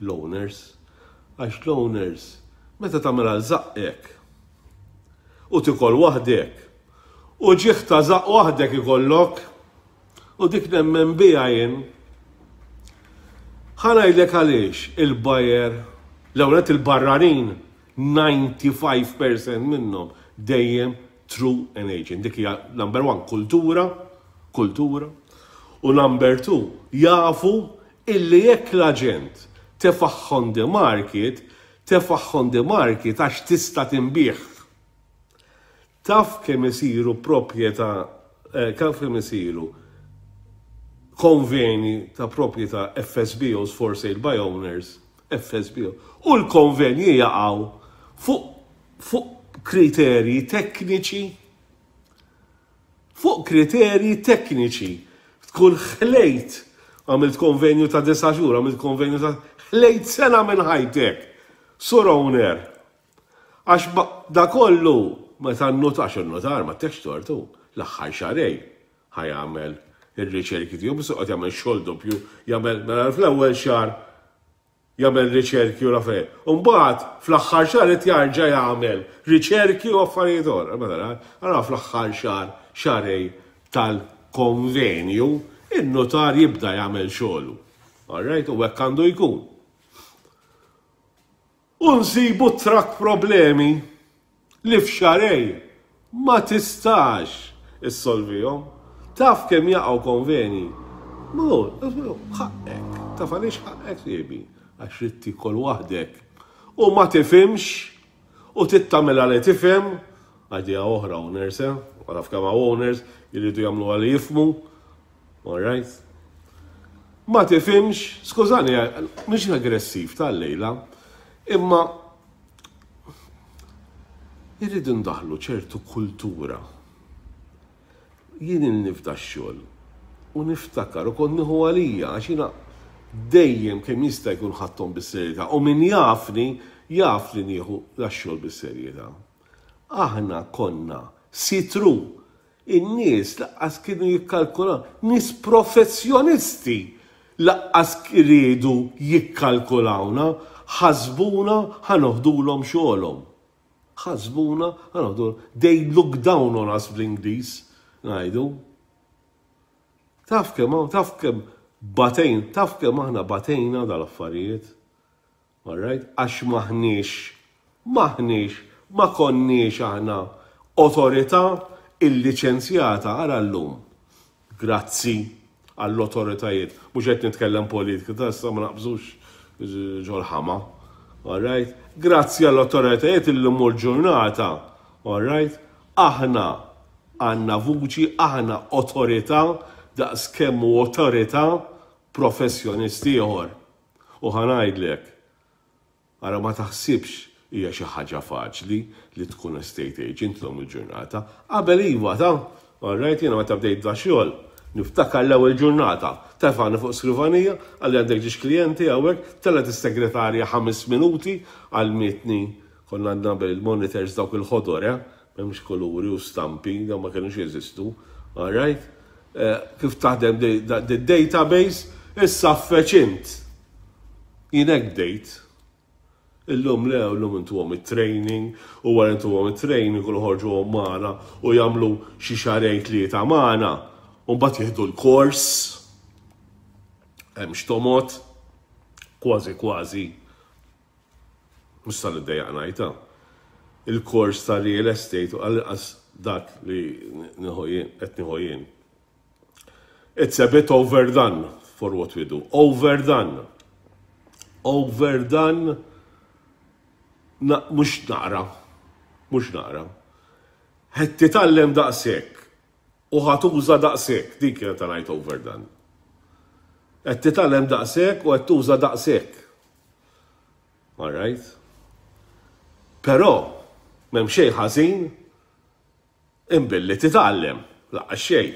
l-owners, għax l-owners, meta tagħmel għal żaqqek u tikol waħdek u ġieħ ta' żaqq waħdek ikollok u dik nemmen bija jien. Ħa ngħidlek għaliex il-buyer, l-ewwel il-barranin, disgħa u disgħin fil-mija minnhom dejjem through an agent. Dik hija number one, kultura, kultura. U number two, jafu illi jekk l-aġent tefagħha on the market, tefagħha on the market għax tista' tinbiegħ. Taf kemm isiru proprjetà, eh, kif kemm isiru konveni ta' proprjetà F S B Os, for sale by owners, F S B O, u l-konvenji jaqgħu fuq fuq kriterji tekniċi, fuq kriterji tekniċi. Tkun ħlejt, għamilt konvenju ta' disa' xhur, għamilt konvenju ta' ħlejt sena minn ħajtek. Sur owner. Għax da kollu, meta n-notar, il-notar ma tekx tortu, l-aħħar xahrejn ħa jagħmel ir-riċerki tiegħu, biss qed jagħmel xogħol doppju, jagħmel mela fl-ewwel xahar jagħmel riċerki u l-affarijiet. Mbagħad fl-aħħar xahar qed jarġa' jagħmel riċerki u affarijiet oħra. Mela ara fl-aħħar xahar, xahrejn tal-konvenju, in-notar jibda jagħmel xogħlu. All right, u hekk għandu jkun. U nsibu trak problemi li f'xahrejn ma tistax issolvihom. Taf kemm jaqgħu konveni? Mu, ħaqqek. Taf għaliex ħaqqek siebi? Għax trid tikol waħdek. U ma tifhimx u tittamela li tifhem, għadija oħra owners, eh? Għaraf kemm hawn owners jridu jagħmlu għal jifhmu. All right. Ma tifhimx, skużani, mhix aggressiv tal-lejla, imma irridu ndaħlu ċertu kultura. Jien nifda x-xogħol u niftakar u kont nieħu għalija għax jiena dejjem kemm jista' jkun ħadthom bis-serjetà u min jafni jaf li nieħu x-xogħol bis-serjetà. Aħna konna sitru in-nies lanqas kienu jikkalkulaw, nies professjonisti lanqas riedu jikkalkulawna, ħasbuna ħa noħdulhom xogħolhom. Ħasbuna ħa noħdu, they look down on us bl-Ingliż, ngħidu. Taf kemm, taf kemm batejn, taf kemm aħna batejna dal-affarijiet. All right? Għax maħniex, maħniex, ma konniex aħna autorità illiċenzjata ara llum. Grazzi għall-autoritajiet. Mhux qed nitkellem politika, ta' issa ma naqbżux ġol-ħama. All right? Grazzi għall-autoritajiet illum ġurnata. All right? Aħna għandna vuċi, aħna autorità daqs kemm hu awtorità professjonist ieħor. U ħa ngħidlek, ara, ma taħsibx hija xi ħaġa faċli li tkun estate agent llum il-ġurnata. Qabel iva ta', alright, jiena meta bdejt da xogħol, niftakar l-ewwel ġurnata, tefani fuq skrivanija, qalli għandek żewġ klijenti hawnhekk, telgħet is-segretarja ħames minuti għallmitni, konna għandna bil-monitors dawk il-ħodor, eh? M'hemmx kuluri u stampi, dawn ma kienux jeżistu, alright? Eh, kif taħdem database, issa feċint. Jien hekk bdejt. Illum le, illum intuhom it-training, u wara intuhom it-training u ħorġuhom magħna u jagħmlu xi xahrejn, tlieta magħna. U mbagħad jieħdu l-kors. Hemm xtomot, kważi kważi. Mhux tal-iddejjaq ngħidha. Il-kors ta' real estate, u għal dak li nieħu jien, qed nieħu jien. It's a bit overdone for what we do. Overdone. Overdone. Na, mhux naqra. Mhux naqra. Qed titgħallem daqshekk u ħa tuża daqshekk, dik kienet ta' ngħid overdone. Qed titgħallem daqshekk u qed tuża daqshekk. All right? Però m'hemm xejn ħażin imbilli titgħallem, lanqas xejn.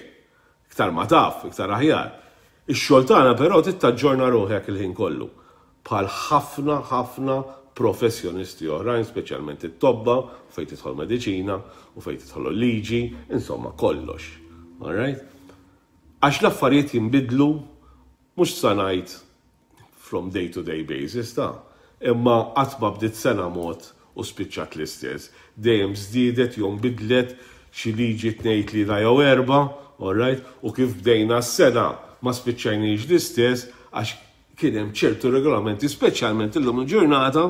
Iktar ma taf, iktar aħjar. Ix-xogħol tagħna però trid taġġorna ruħek il-ħin kollu. Bħal ħafna ħafna professjonisti oħrajn, speċjalment it-tobba, fejn tidħol mediċina u fejn tidħol liġi, insomma kollox. All right? Għax l-affarijiet jinbidlu, mhux sa ngħid from day to day basis ta', imma qatt ma bdiet sena mod u spiċċat l-istess. Dejjem żdiedet jew bidlet xi liġi, tnejn, tlieta jew erba', all right? U kif bdejna s-sena ma spiċċajniex l-istess għax kien hemm ċertu regolamenti, speċjalment illum il-ġurnata,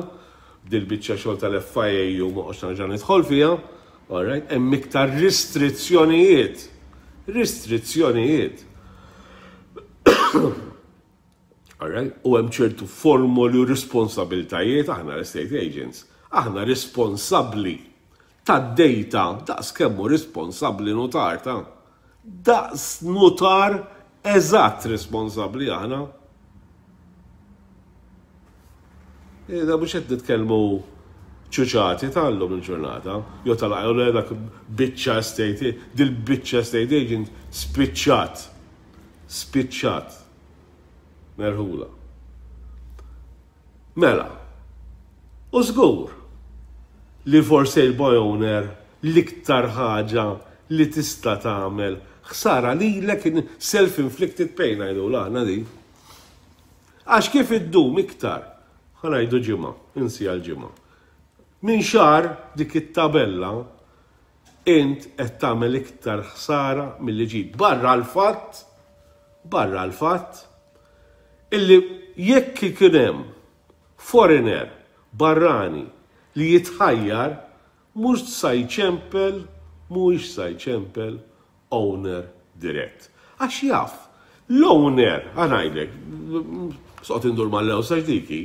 dil-biċċa xogħol tal-F I A u ma nerġa' nidħol fiha, all right? Hemm iktar restrizzjonijiet. Restrizzjonijiet. All right? U hemm ċertu formoli u responsabiltajiet. Aħna l-estate agents. Aħna responsabbli tad-data daqs kemm hu responsabbli notar ta'. Daqs notar eżatt responsabbli aħna. Da mhux qed nitkellmu ċuċati tal-lum il-ġurnata, jew tal dak biċċa estate, dil-biċċa estate agent spiċċat. Spiċċat. Merħula. Mela, u żgur li for sale by owner l-iktar ħaġa li tista' tagħmel ħsara lilek, self-inflicted pain ngħidu aħna di. Għax kif iddum iktar, ħa ngħidu ġimgħa, insi għal ġimgħa. Minn xahar dik it-tabella, int qed tagħmel iktar ħsara milli ġid. Barra l-fatt, barra l-fatt, illi jekk ikun hemm foreigner, barrani li jitħajjar, mhux sa jċempel, mhux sa jċempel owner dirett. Għax jaf, l-owner, ħa ngħidlek, sot indur mal-lew diki,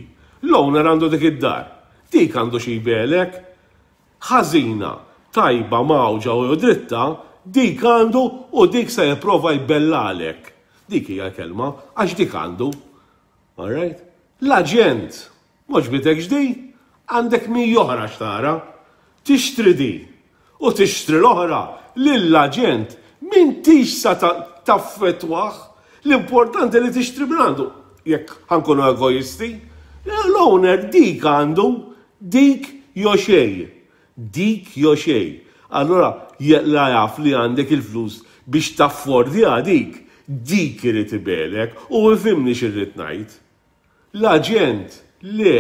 l-owner għandu dik id-dar. Dik għandu xi jbelek, ħażina, tajba, mgħawġa u dritta, dik għandu u dik se jipprova jbellalek. Dik hija kelma, għax dik għandu. Alright? L-aġent, m'għoġbitekx di, għandek mija oħra x'tara, tixtri di u tixtri l-oħra, lill-aġent m'intix sa taffettwah, l-importanti li tixtri mingħandu. Jekk ħa nkunu egoisti, l-owner dik għandu, dik jew xejn. Dik jew xejn. Allora, la jaf li għandek il-flus biex taffordja dik, dik irid ibelek u ifhimni x'irrid ngħid. L-aġent, le,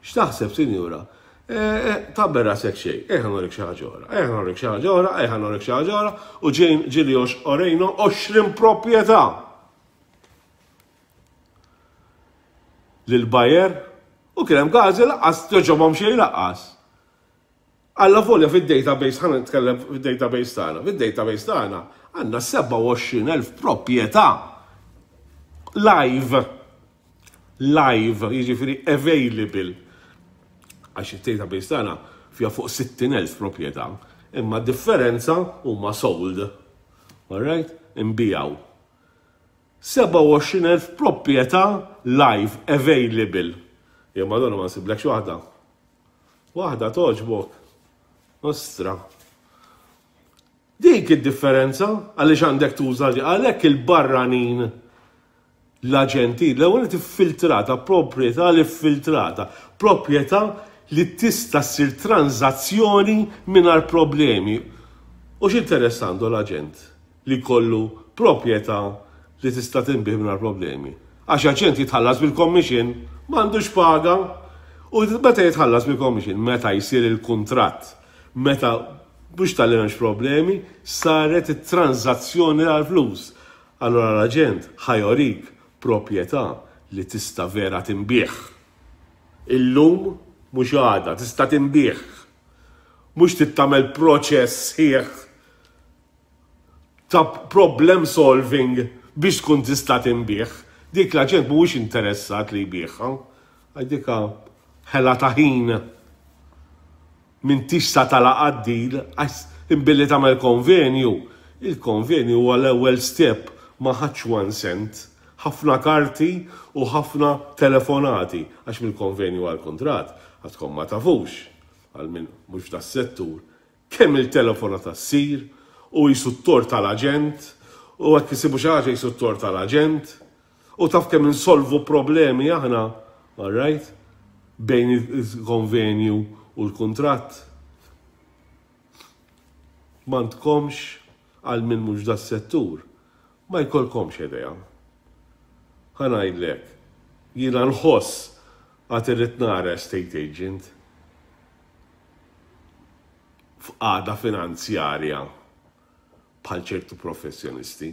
x'taħseb, sinjura? Eh, eh, Tabber rasek xejn, eħa norik xi ħaġa oħra, eħa norik xi ħaġa oħra, eħa norik xi ħaġa oħra, u ġejn ġili orejna għoxrin proprjetà lil buyer u kien hemm każi lanqas toġobhom xejn lanqas. Alla volja fid-database, ħa nitkellem fid-database tagħna, fid-database tagħna għandna sebgħa u għoxrin elf proprjetà live. Live, jiġifieri available. Għax il-database tagħna fiha fuq sittin elf proprjetà, imma differenza huma sold. Alright? Inbiegħu. sebgħa u għoxrin elf proprjetà live available. Jew madonna ma nsiblekx waħda. Waħda togħġbok. Ostra. Dik id-differenza għaliex għandek tuża li għalhekk il-barranin, l-aġenti, l-ewwel tiffiltrata, proprjetà li filtrata, proprjetà li tista' ssir tranzazzjoni mingħajr problemi. U x'interess għandu l-aġent li kollu proprjetà li tista' tinbiegħ mingħajr problemi? Għax aġent jitħallas bil-commission, m'għandux paga. U meta jitħallas bil-commission? Meta jsir il-kuntratt, meta mhux talli m'hemmx problemi, saret it-tranzazzjoni għal-flus. Allora l-aġent ħa jurik proprjetà li tista' vera tinbiegħ. Illum, mhux għada, tista' tinbiegħ. Mhux tagħmel proċess sħiħ ta' problem solving biex tkun tista' tinbiegħ. Dik l-aġent mhuwiex interessat li jbigħha. Għax dika ħela ta' ħin, m'intix sa tagħlaq deal, għax imbilli tagħmel konvenju. Il-konvenju huwa l-ewwel step, ma ħadx one cent. Ħafna karti u ħafna telefonati, għax mill-konvenju għal-kontrat, għadkom ma tafux, għal min mhux das-settur, kemm il-telefonata ssir u jisu t-tort tal-aġent, u għek jisibu xi ħaġa jisu t-tort tal-aġent, u taf kemm insolvu problemi aħna, all right, bejn il-konvenju u l-kontratt. M'għandkomx, għal min mhux das-settur, ma jkollkomx idea. Ħa ngħidlek, jiena nħoss għad irrid nara estate agent f'qagħda finanzjarja bħal ċertu professjonisti.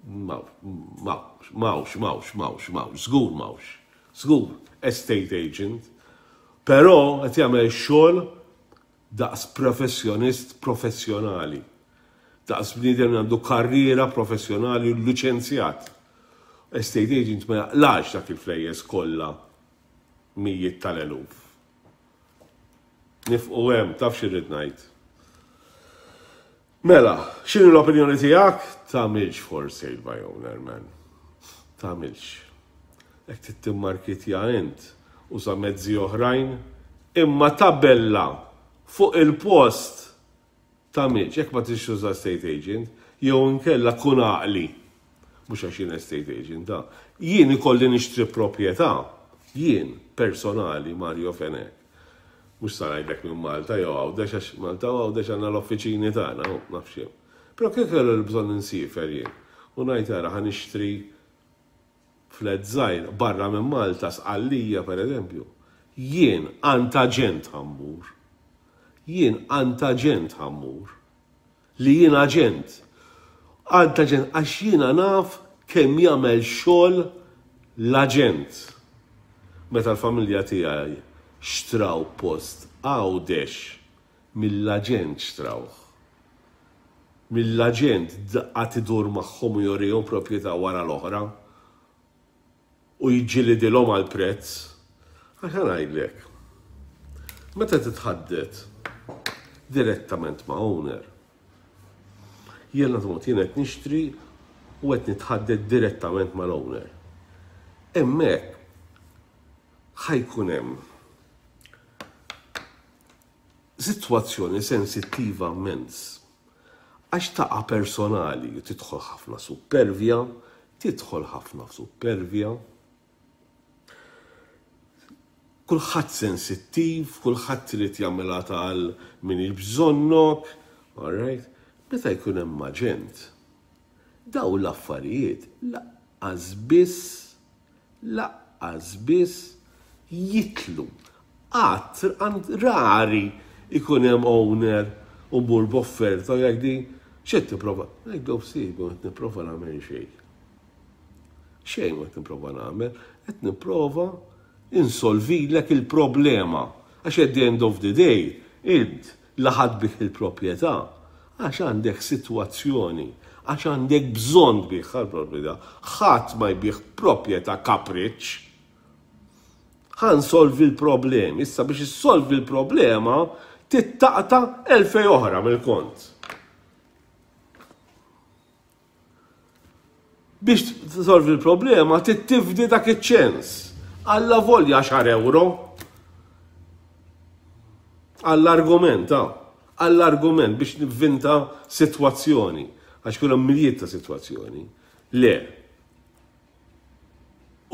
M'hawnx, m'hawnx, m'hawnx, m'hawnx, m'hawnx, żgur m'hawnx. Żgur, estate agent. Però qed jagħmel xogħol daqs professjonist professjonali. Daqs bniedem li għandu karriera professjonali u liċenzjat. Estate agent ma jaqlax dak il-flejjes kollha, mijiet tal-eluf. Nifqu hemm, taf x'irrid ngħid. Mela, x'inhu l-opinjoni tiegħek? Tagħmilx for sale by owner, man. Tagħmilx. Jekk trid timmarketja int, uża mezzi oħrajn, imma tabella fuq il-post tagħmilx, jekk ma tix tuża estate agent, jew inkella kun għaqli. Mhux għax jien estate agent, da. Jien ikolli nixtri proprjetà, jien personali, Mario Fenech. Mhux sa ngħidlek minn Malta jew Għawdex, għax Malta u Għawdex għandna l-offiċini tagħna, u nafx jien. Però kif kellu l-bżonn insiefer jien u ngħid, ara, ħa nixtri flat żgħir barra minn Malta, Sqallija pereżempju. Jien għand aġent ħa mmur. Jien għand aġent ħa mmur. Li jien aġent. Għand aġent għax jiena naf kemm jagħmel xogħol l-aġent. Meta l-familja tiegħi xtraw post Għawdex, mill-aġent xtrawh. Mill-aġent qagħad idur magħhom u jurihom proprjetà wara l-oħra u jiġġilidilhom għal prezz. Għax ngħidlek, meta titħaddet direttament ma' owner, jiena tmut, jien qed nixtri u qed nitħaddet direttament mal-owner. Hemmhekk ħa jkun hemm sitwazzjoni sensittiva immens. Għax taqa' personali, tidħol ħafna supervja, tidħol ħafna supervja. Kulħadd sensittiv, kulħadd irid jagħmilha tal min bżonnok, all right? Meta jkun hemm aġent, daw l-affarijiet lanqas biss, lanqas biss jitlu. Għat, għand rari ikun hemm owner u mur b'offerta jekk di x'qed tipprova? Ngħidlu, sibu, qed nipprova nagħmel xejn. Xejn ma qed nipprova nagħmel, qed nipprova insolvilek il-problema. Għax at the end of the day, int laħad bih il-proprjetà, għax għandek sitwazzjoni, għax għandek bżonn tbigħ il-proprjetà. Ħadd ma jbigħ proprjetà kapriċ. Ħa nsolvi l-problemi. Issa biex issolvi l-problema, trid taqta' elfejn oħra mill-kont. Biex tsolvi l-problema, tittifdi dak iċ-ċens. Alla volja għaxar euro. Għall-argument, għall-argument biex nivvinta sitwazzjoni. Għax kull miljiet ta' sitwazzjoni. Le.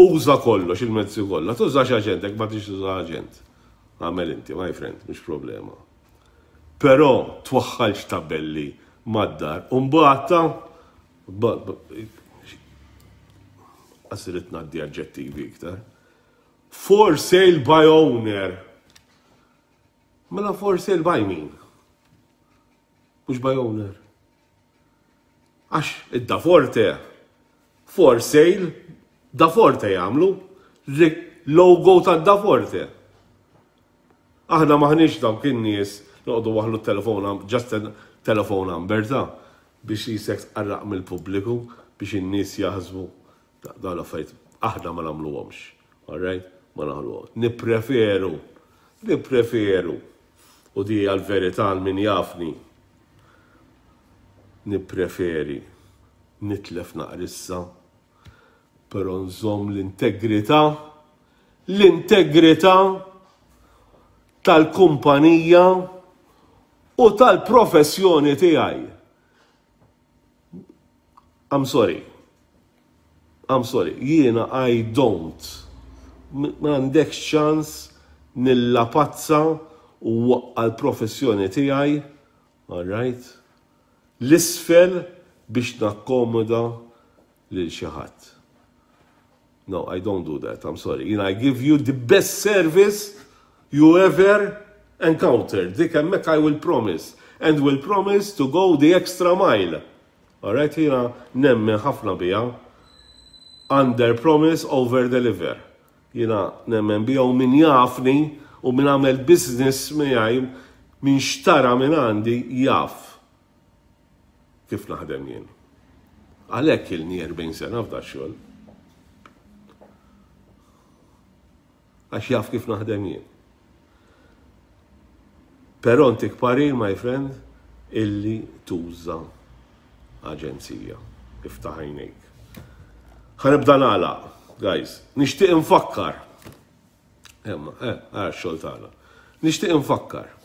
Uża kollox, il-mezzi kollha. Tużax aġent, ma tix tuża aġent. Għamel inti, my friend, mhux problema. Però twaħħalx tabelli mad-dar. Umbagħad għasirit naddi aġġettivi iktar. For sale by owner. Mela for sale by min? Mhux by owner. Għax id-Da Forte, for sale, Da Forte jagħmlu, logo ta' Da Forte. Aħna maħniex dawk in-nies noqogħdu waħlu telefon, just telephone number ta' biex jisek tqarraq mill-pubbliku biex in-nies jaħsbu dawn l-affarijiet. Aħna ma nagħmluhomx. All right? Ma nagħmluhom. Nippreferu, nippreferu, u di għal-verità għal min jafni, nippreferi nitlef naqrissa, però nżomm l-integrità, l-integrità tal-kumpanija u tal-professjoni tiegħi. I'm sorry. I'm sorry. Jiena I don't. Ma għandekx ċans nilla pazza u waqqa l-professjoni tiegħi. All right? L-isfel biex nakkomoda lil xi ħadd. No, I don't do that. I'm sorry. You know, I give you the best service you ever encountered. Dik hemmhekk I will promise. And will promise to go the extra mile. Alright, jiena nemmen ħafna bija. Under promise, over deliver. Jiena nemmen bija u min jafni u min għamel business miegħi, min xtara minn għandi, jaf kif naħdem jien. Għalhekk ilni erbgħin sena f'da xogħol. Għax jaf kif naħdem jien. Però ntik parir, my friend, illi tuża aġenzija. Iftaħ għajnejk. Ħa nibda nagħlaq, guys. Nixtieq infakkar. Emma, eh, għara xogħol tagħna. Nixtieq infakkar.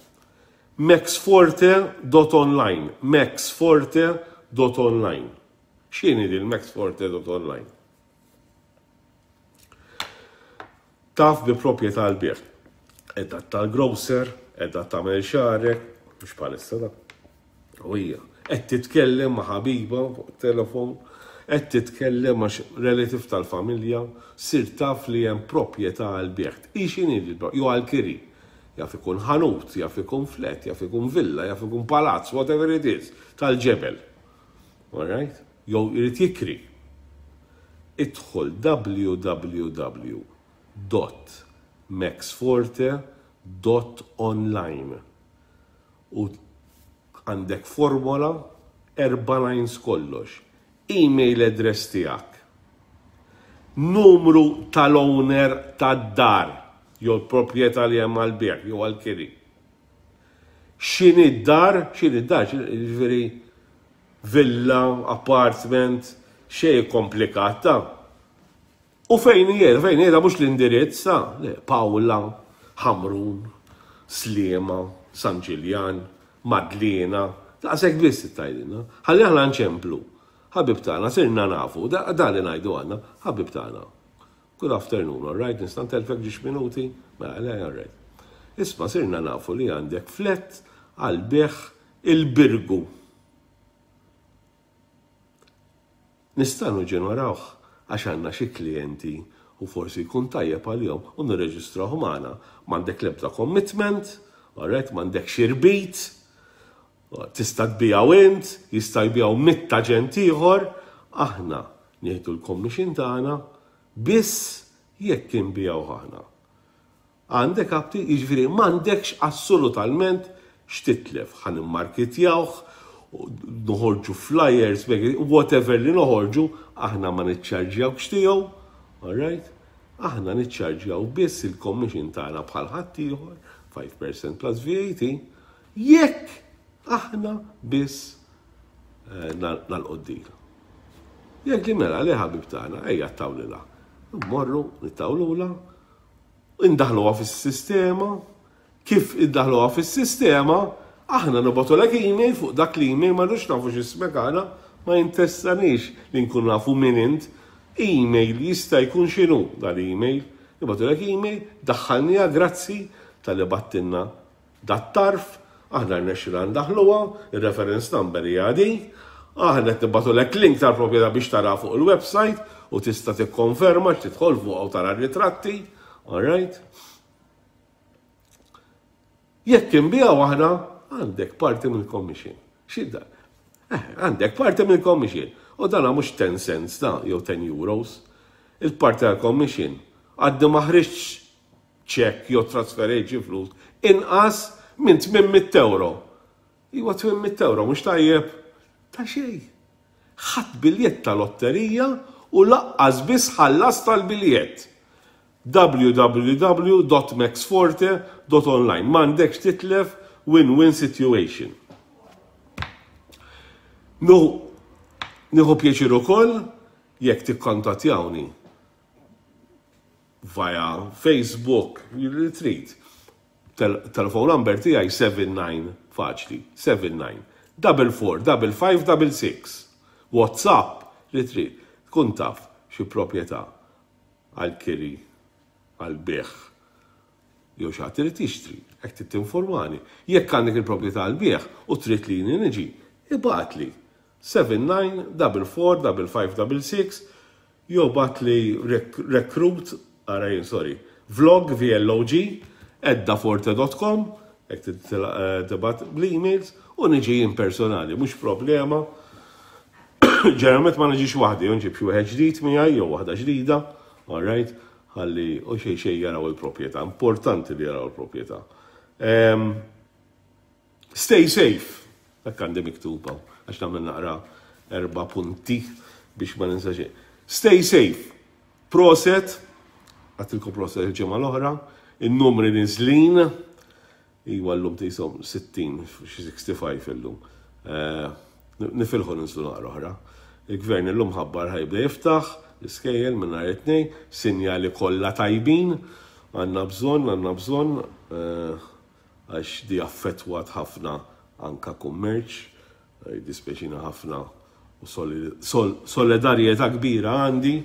maxforte dot online, maxforte dot online. X'inhi din maxforte dot online? Taf bi proprjetà l-bieħ. Edha tal-grocer, edha tagħmel xagħrek, mhux bħalissa da. U hija, qed titkellem ma' ħabiba fuq telefon, qed titkellem ma' relative tal-familja, sir taf li hemm proprjetà għal bieħ. Hi x'inhi, jew għal-kiri. Jaf ikun ħanut, jaf ikun flat, jaf ikun villa, jaf ikun palazz, whatever it is, tal-ġebel. Alright? Jew irid jikri. Idħol W W W dot maxforte dot online u għandek formola, erba' lines kollox. Email address tiegħek. Numru tal-owner tad-dar jew l-proprjetà li hemm għal-bejgħ jew għal-kiri. X'inhi d-dar, x'inhi d-dar, ġifieri villa, apartment, xejn komplikat ta'. U fejn hija, fejn hija mhux l-indirizz, ta' le, Paola, Ħamrun, Sliema, San Ġiljan, Madliena, daqshekk biss tgħidilna. Ħalli aħna nċemplu. Ħabib tagħna, sirna nafu, da da li ngħidu għandna, ħabib tagħna. Good afternoon, all right, nista' ntellfek ġiex minuti? Mela, le, all right. Isma', sirna nafu li għandek flat għal bejgħ il-Birgu. Nistgħu ġenerawh għax għandna xi klijenti u forsi jkun tajjeb għalihom u nirreġistrawh magħna. M'għandek l-ebda commitment, all right, m'għandek irbit, tista' tbiegħu int, jista' jbiegħu mitt aġent ieħor, aħna nieħdu l-commission tagħna biss jekk inbiegħu aħna. Għandek apti, jiġifieri m'għandekx assolutament x'titlef, ħa nimmarketjawh, noħorġu flyers, whatever li noħorġu, aħna ma niċċarġjawx tiegħu, all right? Aħna niċċarġjaw biss il-commission tagħna bħal ħaddieħor, five percent plus V A T, jekk aħna biss eh, nagħlqu d-deal. Jekk li mela li ħabib tagħna, ejja ttawlilha. Mmorru nittawlula, indaħluha fis-sistema. Kif iddaħluha fis-sistema, aħna nibagħtulek email fuq dak l-email. Ma rridux nafu x'ismek aħna, ma jinteressanix li nkun nafu min int. Email jista' jkun x'inhu dal-email. Nibagħtulek email, daħħalniha, grazzi talli bgħattilna dat-tarf, aħna rnexxilna ndaħluha, il-reference number hija di, aħna qed nibagħtulek link tal-proprjetà biex tara fuq il-website u tista' tikkonferma, tidħol fuq u tara r-ritratti, all right? Jekk inbigħu aħna, għandek parti mill-commission. Xidda? Eh, għandek parti mill-commission. U dana mhux ten cents da, jew ten euros. Il-parti tal-commission għaddi ma ħriġx ċekk jew trasferejt flus inqas minn tmien mitt euro. Iwa, tmien mitt euro mhux tajjeb ta' xejn. Ħadt biljett ta' lotterija u lanqas biss ħallas tal-biljett. W W W dot maxforte dot online. M'għandekx titlef win-win situation. Nu, nieħu pjaċir ukoll jekk tikkontattjawni via Facebook, li trid. Telephone number tiegħi seven nine, faċli, seven nine double four double five double six. WhatsApp, li trid. Tkun taf xi proprjetà għal kiri, għal bejgħ, jew xi ħadd irid jixtri, hekk trid tinformani. Jekk għandek il-proprjetà għal bejgħ u trid li niġi, ibgħatli seven nine double four double five double six jew ibgħatli recruit, ara jien, sorry, vlog, V L O G, eddaforte dot com, jekk tibgħat bl-emails u niġi jien personali, mhux problema. Ġeneralment ma niġix waħdi, nġib xi wieħed ġdid miegħi jew waħda ġdida, all right, ħalli u xejn xejn jaraw il-proprjetà, importanti li jaraw il-proprjetà. Stay safe, dak għandi miktuba, għax nagħmel naqra erba' punti biex ma ninsa xejn. Stay safe. Prosit, għedtilkom prosit il-ġimgħa l-oħra, il-numri nizlin, iwa l-lum tisom sittin, xi sixty-five illum. Eh, nifilħu ninżlu naqra oħra. Il-gvern illum ħabbar ħa jibda jiftaħ l-iskejjel minn nhar it-Tnejn, sinjali kollha tajbin, għandna bżonn, għandna bżonn, eh, għax di affettwat ħafna anka kummerċ, eh, dispjaċina ħafna u solidarjetà kbira għandi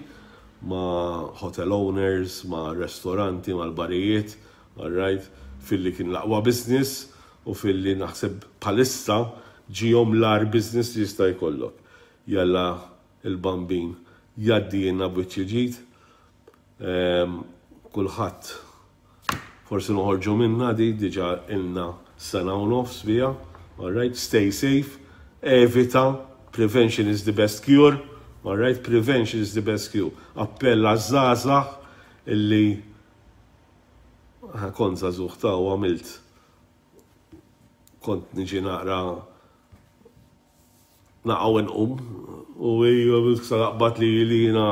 ma' hotel owners, ma' ristoranti, ma' l-barijiet, all right, filli kien l-aqwa business u filli naħseb bħalissa ġihom l-agħar business li jista' jkollok. Jalla il-Bambin jgħaddina b'wiċċ ġid, kulħadd forsi noħorġu minna di, diġà ilna sena u nofs bija, all right, stay safe, evita, prevention is the best cure, all right, prevention is the best cure. Appell għaż-żgħażagħ illi kont żagħżugħ ta' u għamilt, kont niġi naqra naqa' u nqum u naqbad li li jiena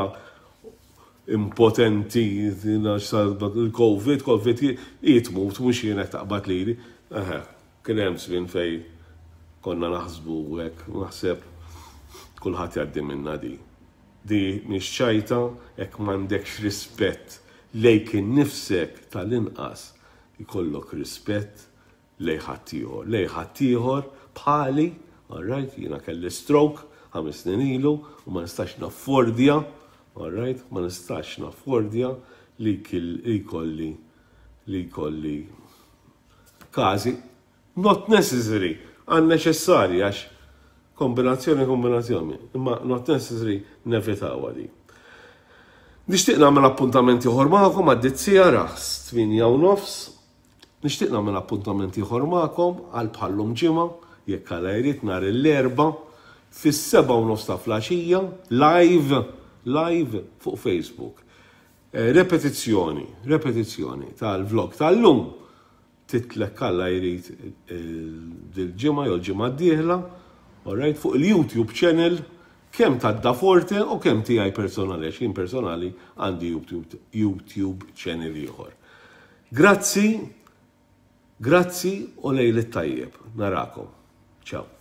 impotenti, jiena il-Covid, Covid jitmut, mhux jiena taqbad li li. Kien hemm żmien fej konna naħsbu hekk, naħseb kulħadd jgħaddi minna di. Di mhix ċajta, jekk m'għandekx rispett lejk innifsek, tal-inqas ikollok rispett lejn ħaddieħor. Lejn ħaddieħor bħali, all right, jiena kelli stroke ħames snin ilu u ma nistax naffordja, all right, ma nistax naffordja li jkolli li jkolli każi not necessary, unnecessary, għax kombinazzjoni kombinazzjoni, imma not necessary, nevitaw di. Nixtieq nagħmel appuntament ieħor magħkom għad-dizzija ras tmienja u nofs. Nixtieq nagħmel appuntament ieħor magħkom għal bħal-lum ġimgħa, jekk Alla jrid, nhar l-Erbgħa fis-sebgħa u nofs ta' filgħaxija live live fuq Facebook. Eh, repetizzjoni, repetizzjoni tal-vlog tal-lum titla' jekk Alla jrid dil-ġimgħa jew l-ġimgħa d-dieħla, alright, fuq il-YouTube channel kemm ta' Daforte u kemm tiegħi personali, għax jien personali għandi YouTube, YouTube channel ieħor. Grazzi, grazzi u lejl it-tajjeb. Narakom. Ciao.